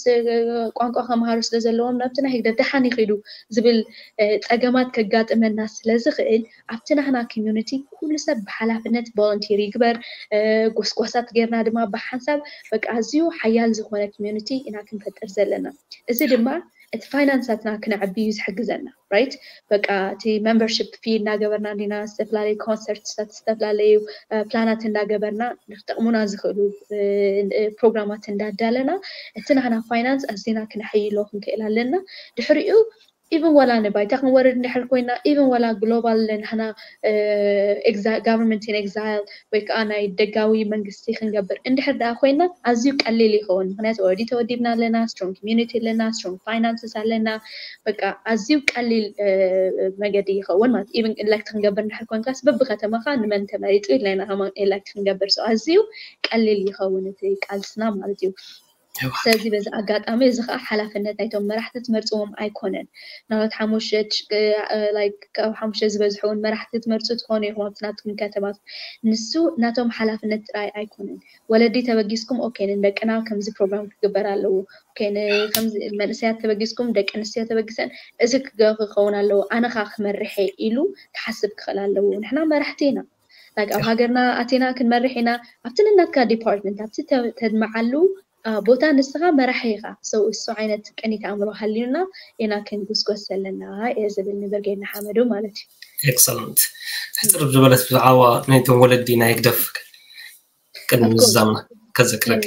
ቋንቋ ከመሃሩ ስለ ዘለዎም ናብቲ ናይ ህግደፍ ደሓን ይኽዱ ዝብል እ፣ ፀገማት ከጋጥመና ስለ ዝኽእል ኣብቲ ናህና ኮሚዩኒቲ ኩሉ ሰብ ብሓላፍነት ቮለንቲር ይግበር። እ፣ ጎስጓሳት ጌርና ድማ ብሓንሳብ በቃ ኣዝዩ ሓያል ዝኾነ ኮሚዩኒቲ ኢና ክንፈጥር ዘለና። እዚ ድማ እቲ ፋይናንሳትና ክነዕቢ እዩ ዝሕግዘና። ራይት በቃ እቲ ሜምበርሽፕ ፊ እናገበርና እንዲና ዝተፈላለዩ ኮንሰርትታት ዝተፈላለዩ እ፣ ፕላናት እንዳገበርና ንክጠቕሙና ዝኽእሉ እ፣ እ፣ ፕሮግራማት እንዳዳለና እቲ ናህና ፋይናንስ ኣዝና ክነሐይሎ ክንክእል ኣለና። ድሕሪኡ ኢቨን ዋላ ንባይታ ክንወርድ እንድሕር ኮይና ኢቨን ዋላ ግሎባል ናህና ጋቨርንመንት ኢን ኤግዛይል ወይ ከዓ ናይ ደጋዊ መንግስቲ ክንገብር እንድሕር ደኣ ኮይና ኣዝዩ ቀሊል ይኸውን። ምክንያቱ ኦልሬዲ ተወዲብና ኣለና፣ ስትሮንግ ኮሚዩኒቲ ኣለና፣ ስትሮንግ ፋይናንስስ ኣለና። በቃ ኣዝዩ ቀሊል እ፣ መገዲ ይኸውን ማለት ኢቨን ኢለክት ክንገብር እንድሕር ኮንካስ በብከተማኻ ንመን ተመሪጡ ኢልና ኢና ከማን ኢለክት ክንገብር ሰው ኣዝዩ ቀሊል ይኸውን እቲ ቃልስና ማለት እዩ። ስለዚ በዚ ኣጋጣሚ እዚ ከዓ ሓላፍነት ናይቶም መራሕቲ ትመርፅዎም ኣይኮነን። ናብት ሓሙሽተ ጭ- እ፣ ላይክ ካብ ሓሙሽተ ዝበዝሑ እውን መራሕቲ ትመርፁ ትኾኑ ኢኹም ኣብቲ ናትኩም ከተማት። ንሱ ናቶም ሓላፍነት ጥራይ ኣይኮነን። ወለዲ ተበጊስኩም ኦኬ ንደቅና ከምዚ ፕሮግራም ክግበር ኣለዎ። ኦኬ ን- ከምዚ መንእሰያት ተበጊስኩም ደቂ ኣንስትዮ ተበጊሰን እዚ ክገ- ክኸውን ኣለዎ ኣነ ኸ ክመርሐ ኢሉ ክሓስብ ክኽእል ኣለዎ። ንሕና መራሕቲ ኢና። ላይክ ኣብ ሃገርና ኣቲና ክንመርሕ ኢና ኣብቲ ንናትካ ዲፓርትመንት ኣብቲ ተ- ተድምዓሉ አ፣ ቦታ ንስኻ መራሒ ኢኻ። ሰው እሱ ዓይነት ቅኒት ኣእምሮ ሃልዩና ኢና ክንጉስጎስ ዘለና እየ ዝብል ንብርጌድ ንሓመዱ ማለት እዩ። ኤክሰለንት። ሕፅር ዝበለት ብዛዕባ ናይቶም ወለዲ ናይ ህግደፍ ቅድሚ ምዝዛምና ከዘክረኪ።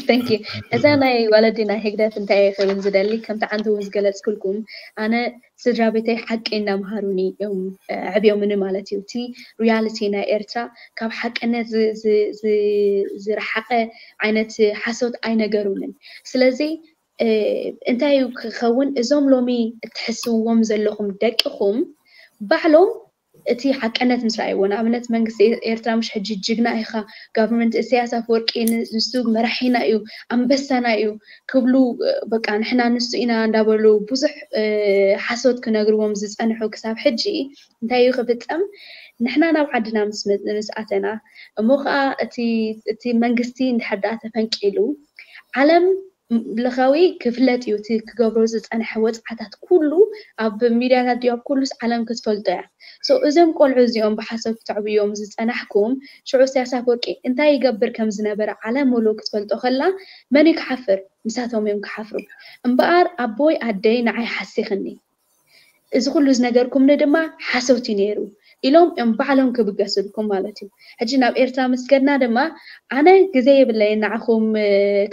ተንኪ እዛ ናይ ወለዲ ናይ ህግደፍ እንታይ እየ ክብል ዝደሊ ከምቲ ዓንተ እውን ዝገለፅኩልኩም ኣነ ስድራ ቤተይ ሓቂ እናምሃሩኒ እዮም ኣዕብዮምኒ ማለት እዩ። እቲ ሪያሊቲ ናይ ኤርትራ ካብ ሓቅነት ዝ- ዝ- ዝ- ዝረሓቐ ዓይነት ሓሶት ኣይነገሩንን። ስለዚ እ፣ እንታይ እዩ ክኸውን እዞም ሎሚ እትሕስውዎም ዘለኹም ደቅኹም ባዕሎም እቲ ሓቀነት ምስ ረኣይዎ፣ ንኣብነት መንግስቲ ኤርትራ ምሽ ሕጂ ጅግና ኢኻ፣ ጋቨርንመንት ኢሳያስ ኣፈወርቂ ንሱ መራሒና እዩ፣ ኣንበሳና እዩ ክብሉ፣ በቃ ንሕና ንሱ ኢና እንዳበሉ ብዙሕ ሓሶት ክነግርዎም ዝፀንሑ ክሳብ ሕጂ እንታይ እዩ ክፍፀም? ንሕና ናብ ዓድና ምስ ኣተና እሞ ከዓ እቲ መንግስቲ እንድሕር ደኣ ተፈንቂሉ ዓለም ለኻዊ ክፍለጥ እዩ። እቲ ክገብሮ ዝፀንሐ ወፅዓታት ኩሉ ኣብ ሚድያታት ድዩ ኣብ ኩሉስ ዓለም ክትፈልጦ እያ። እዞም ቆልዑ እዚኦም ብሓሶት ክተዕብዮም ዝፀናሕኩም ሽዑ ኢሳያስ ኣፈወርቂ እንታይ ይገብር ከም ዝነበረ ዓለም ሙሉእ ክትፈልጦ ከላ መን እዩ ክሓፍር? ንሳቶም እዮም ክሓፍሩ። እምበኣር ኣቦይ ኣደይ ንዓይ ሓሲኽኒ፣ እዚ ኩሉ ዝነገርኩምኒ ድማ ሓሶት እዩ ነይሩ ኢሎም እዮም ባዕሎም ክብገስልኩም ማለት እዩ። ሕጂ ናብ ኤርትራ ምስ ከድና ድማ ኣነ ግዜ የብለይን ንዓኹም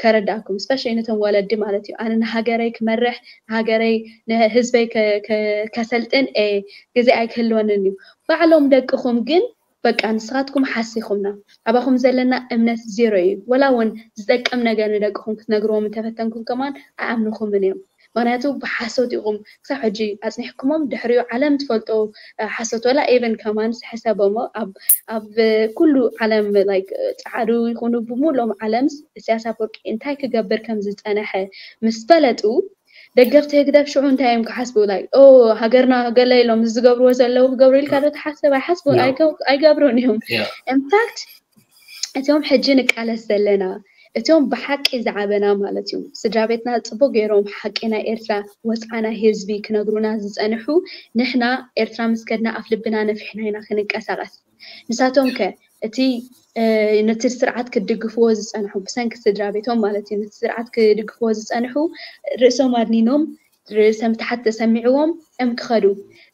ከረዳእኩም፣ ስፔሻሊ ነቶም ወለዲ ማለት እዩ። ኣነ ንሃገረይ ክመርሕ፣ ንሃገረይ ንህዝበይ ከሰልጥን ግዜ ኣይክህልወንን እዩ። ባዕሎም ደቅኹም ግን በቃ ንስኻትኩም ሓሲኹምና፣ ኣባኹም ዘለና እምነት ዜሮ እዩ። ወላ እውን ዝጠቅም ነገር ንደቅኹም ክትነግርዎም እንተፈተንኩም ከማን ኣይኣምንኹምን እዮም። ምክንያቱ ብሓሶት ኢኹም ክሳብ ሕጂ ኣፅኒሕኩሞም፣ ድሕሪኡ ዓለም ትፈልጦ ሓሶት፣ ወላ ኤቨን ከማን ሕሰቦሞ ኣብ ኩሉ ዓለም ላይክ ፃዕዱ ይኹኑ ብምሎም ዓለምስ ኢሳያስ ኣፈወርቂ እንታይ ክገብር ከም ዝፀነሐ ምስ ፈለጡ ደገፍቲ ህግደፍ ሽዑ እንታይ እዮም ክሓስቡ? ላይክ ኦ ሃገርና ገለ ኢሎም ዝገብርዎ ዘለዉ ክገብሩ ኢልካ ዶ ትሓስብ? ኣይሓስቡን፣ ኣይገብሩን እዮም። ኢንፋክት እቶም ሕጂ ንቃለስ ዘለና እቶም ብሓቂ ዝዓበና ማለት እዩ ስድራ ቤትና ፅቡቅ ገይሮም ሓቂ ናይ ኤርትራ ወፅዓና ህዝቢ ክነግሩና ዝፀንሑ ንሕና ኤርትራ ምስ ከድና ኣፍ ልብና ነፊሕና ኢና ክንንቀሳቀስ። ንሳቶም ከ እቲ ነቲ ስርዓት ክድግፍዎ ዝፀንሑ ብሰንኪ ስድራ ቤቶም ማለት እዩ ነቲ ስርዓት ክድግፍዎ ዝፀንሑ ርእሶም ኣድኒኖም ርእሰ ምትሓት ተሰሚዕዎም እዮም ክኸዱ።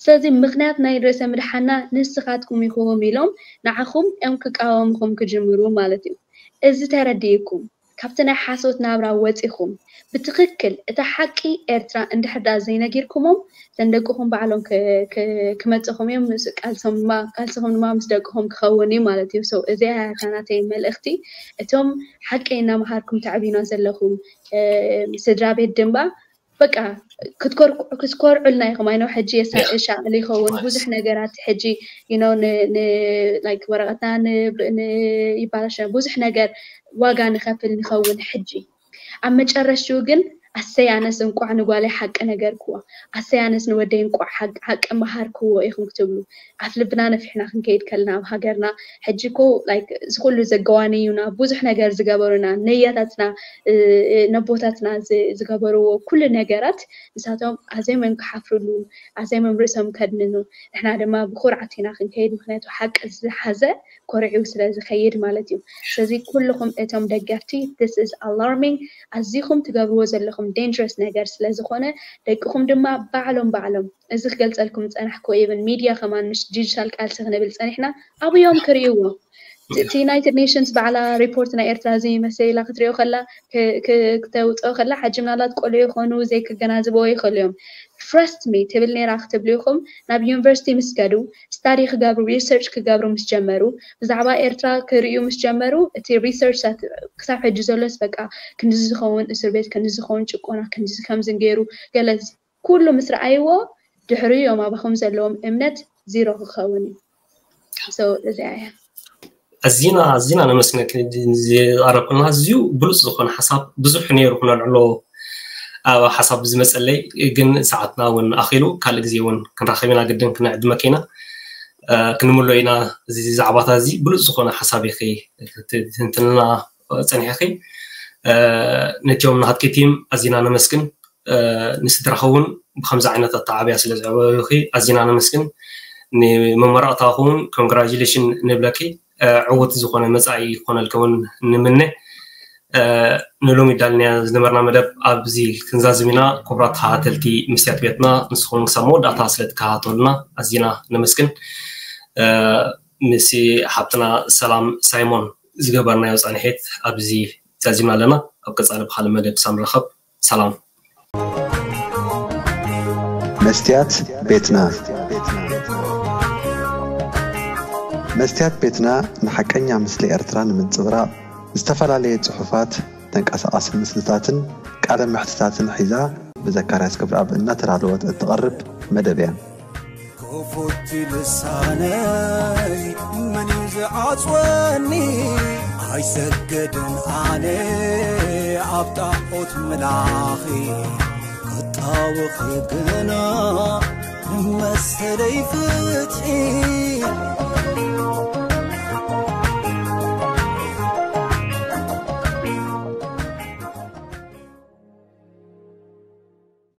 ስለዚ ምኽንያት ናይ ርእሰ ምድሓና ንስኻትኩም ኢኹም ኢሎም ንዓኹም እዮም ክቃወምኹም ክጅምሩ ማለት እዩ። እዚ ተረዲእኩም ካብቲ ናይ ሓሶት ናብራ ወፂኹም ብትኽክል እታ ሓቂ ኤርትራ እንድሕር ደኣ ዘይነጊርኩሞም እተን ደቅኹም ባዕሎም ክመፅኹም እዮም። ቃልሶም ድማ ቃልስኹም ድማ ምስ ደቅኹም ክኸውን እዩ ማለት እዩ። So እዚኣ እያ እታ ናተይ መልእኽቲ። እቶም ሓቂ እናምሃርኩም ተዕብዩና ዘለኹም ስድራ ቤት ድማ በቃ ክትኮርዑልና ኢኹም። ኣይነው ሕጂ የሻቕል ይኸውን ብዙሕ ነገራት ሕጂ ላይክ ወረቐትና ይባላሸ ብዙሕ ነገር ዋጋ ንኸፍል ንኸውን ሕጂ ኣብ መጨረሽኡ ግን ኣሰይ ኣነስ እንቋዕ ንጓለይ ሓቂ ነገርክዎ፣ ኣሰይ ኣነስ ንወደይ እንቋዕ ሓቂ መሃርክዎ ኢኹም ክትብሉ ኣፍ ልብና ነፊሕና ክንከይድ ከለና ኣብ ሃገርና ሕጂ እኮ ላይክ እዚ ኩሉ ዘገዋንዩና ብዙሕ ነገር ዝገበሩና ነያታትና ነቦታትና ዝገበርዎ ኩሉ ነገራት ንሳቶም ኣዘዮም እዮም ክሓፍርሉ ኣዘዮም እዮም ርእሶም ከድንኑ ንሕና ድማ ብኩርዓት ኢና ክንከይድ ምክንያቱ ሓቂ ዝሓዘ ኮርዒው ስለ ዝኸይድ ማለት እዩ። ስለዚ ኩልኹም እቶም ደገፍቲ this is alarming ኣዚኹም ትገብርዎ ዘለኹም dangerous ነገር ስለ ዝኾነ ደቅኹም ድማ ባዕሎም ባዕሎም እዚ ክገልፀልኩም ዝፀናሕኩ even ሚድያ ከማን ምስ ዲጂታል ቃልሲ ክንብል ፀኒሕና ኣብዮም ክርእይዎ እቲ ዩናይትድ ኔሽንስ ባዕላ ሪፖርት ናይ ኤርትራ እዚ መሰላ ክትሪኦ ከላ ክተውፅኦ ከላ ሓጂ ምናልባት ቆልዑ ይኾኑ ዘይክገናዝበዎ ይኽእሉ እዮም። Trust me ትብል ነይራ ክትብሉ ኢኹም ናብ ዩኒቨርሲቲ ምስ ከዱ ስታዲ ክገብሩ ሪሰርች ክገብሩ ምስ ጀመሩ ብዛዕባ ኤርትራ ክርእዩ ምስ ጀመሩ እቲ ሪሰርች ክሳብ ሕጂ ዘሎስ በቃ ክንዲ ዝኸውን እስር ቤት ክንዲ ዝኸውን ጭቆና ክንዲ ከምዝን ገይሩ ገለ ኩሉ ምስ ረኣይዎ ድሕሪ እዮም ኣባኹም ዘለዎም እምነት ዚሮ ክኸውን እዩ። እዚኣ እያ። ኣዚና ኣዚና ነመስግነኪ ዝቐረብክልና ኣዝዩ ብሉፅ ዝኾነ ሓሳብ ብዙሕ ነይሩ ክነልዕሎ ኣብ ሓሳብ ዝመፀለይ ግን ሰዓትና እውን ኣኺሉ ካልእ ግዜ እውን ክንራኸብ ኢና ግድን ክንዕድመኪ ኢና ክንምሎ ኢና እዚ ዛዕባታት እዚ ብሉፅ ዝኾነ ሓሳብ ኢኺ ትንትንልና ፀኒሕኺ ነቲኦም ናሃትኪ ቲም ኣዚና ነመስግን ንስድራኺ እውን ብከምዚ ዓይነት ኣተዓብያ ስለ ዘዕበዩኺ ኣዚና ነመስግን። ንመመረቕታኺ እውን ኮንግራጁሌሽን ንብለኪ። ዕዉት ዝኾነ መጻኢ ክኾነልኪ እውን ንምነ። ንሎሚ ዳልናያ ዝነበርና መደብ ኣብዚ ክንዛዝም ኢና። ክቡራት ተኸታተልቲ መስትያት ቤትና ንስኹም ክሳብ መወዳእታ ስለ ትከታተሉና ኣዚና ነመስግን። ምስ ሓብትና ሰላም ሳይሞን ዝገበርናዮ ጻንሒት ኣብዚ ዛዚምና ኣለና። ኣብ ቀጻሊ ብኻልእ መደብ ክሳብ ንራኸብ ሰላም። መስትያት ቤትና መስትያት ቤትና ንሓቀኛ ምስሊ ኤርትራ ንምንጽብራቕ ዝተፈላለየ ጽሑፋት፣ ተንቀሳቓሲ ምስልታትን ቃለ መሕትታትን ሒዛ ብዘካርያስ ክብረኣብ እናተዳለወት እትቐርብ መደብ እያ። ክፉት ልሳነይ መን እዩ ዝዓጽወኒ? ኣይሰግድን ኣነ ኣብ ጣዖት ምላኺ፣ ክጣወኺ ግና ንመሰለይ ፍትሒ።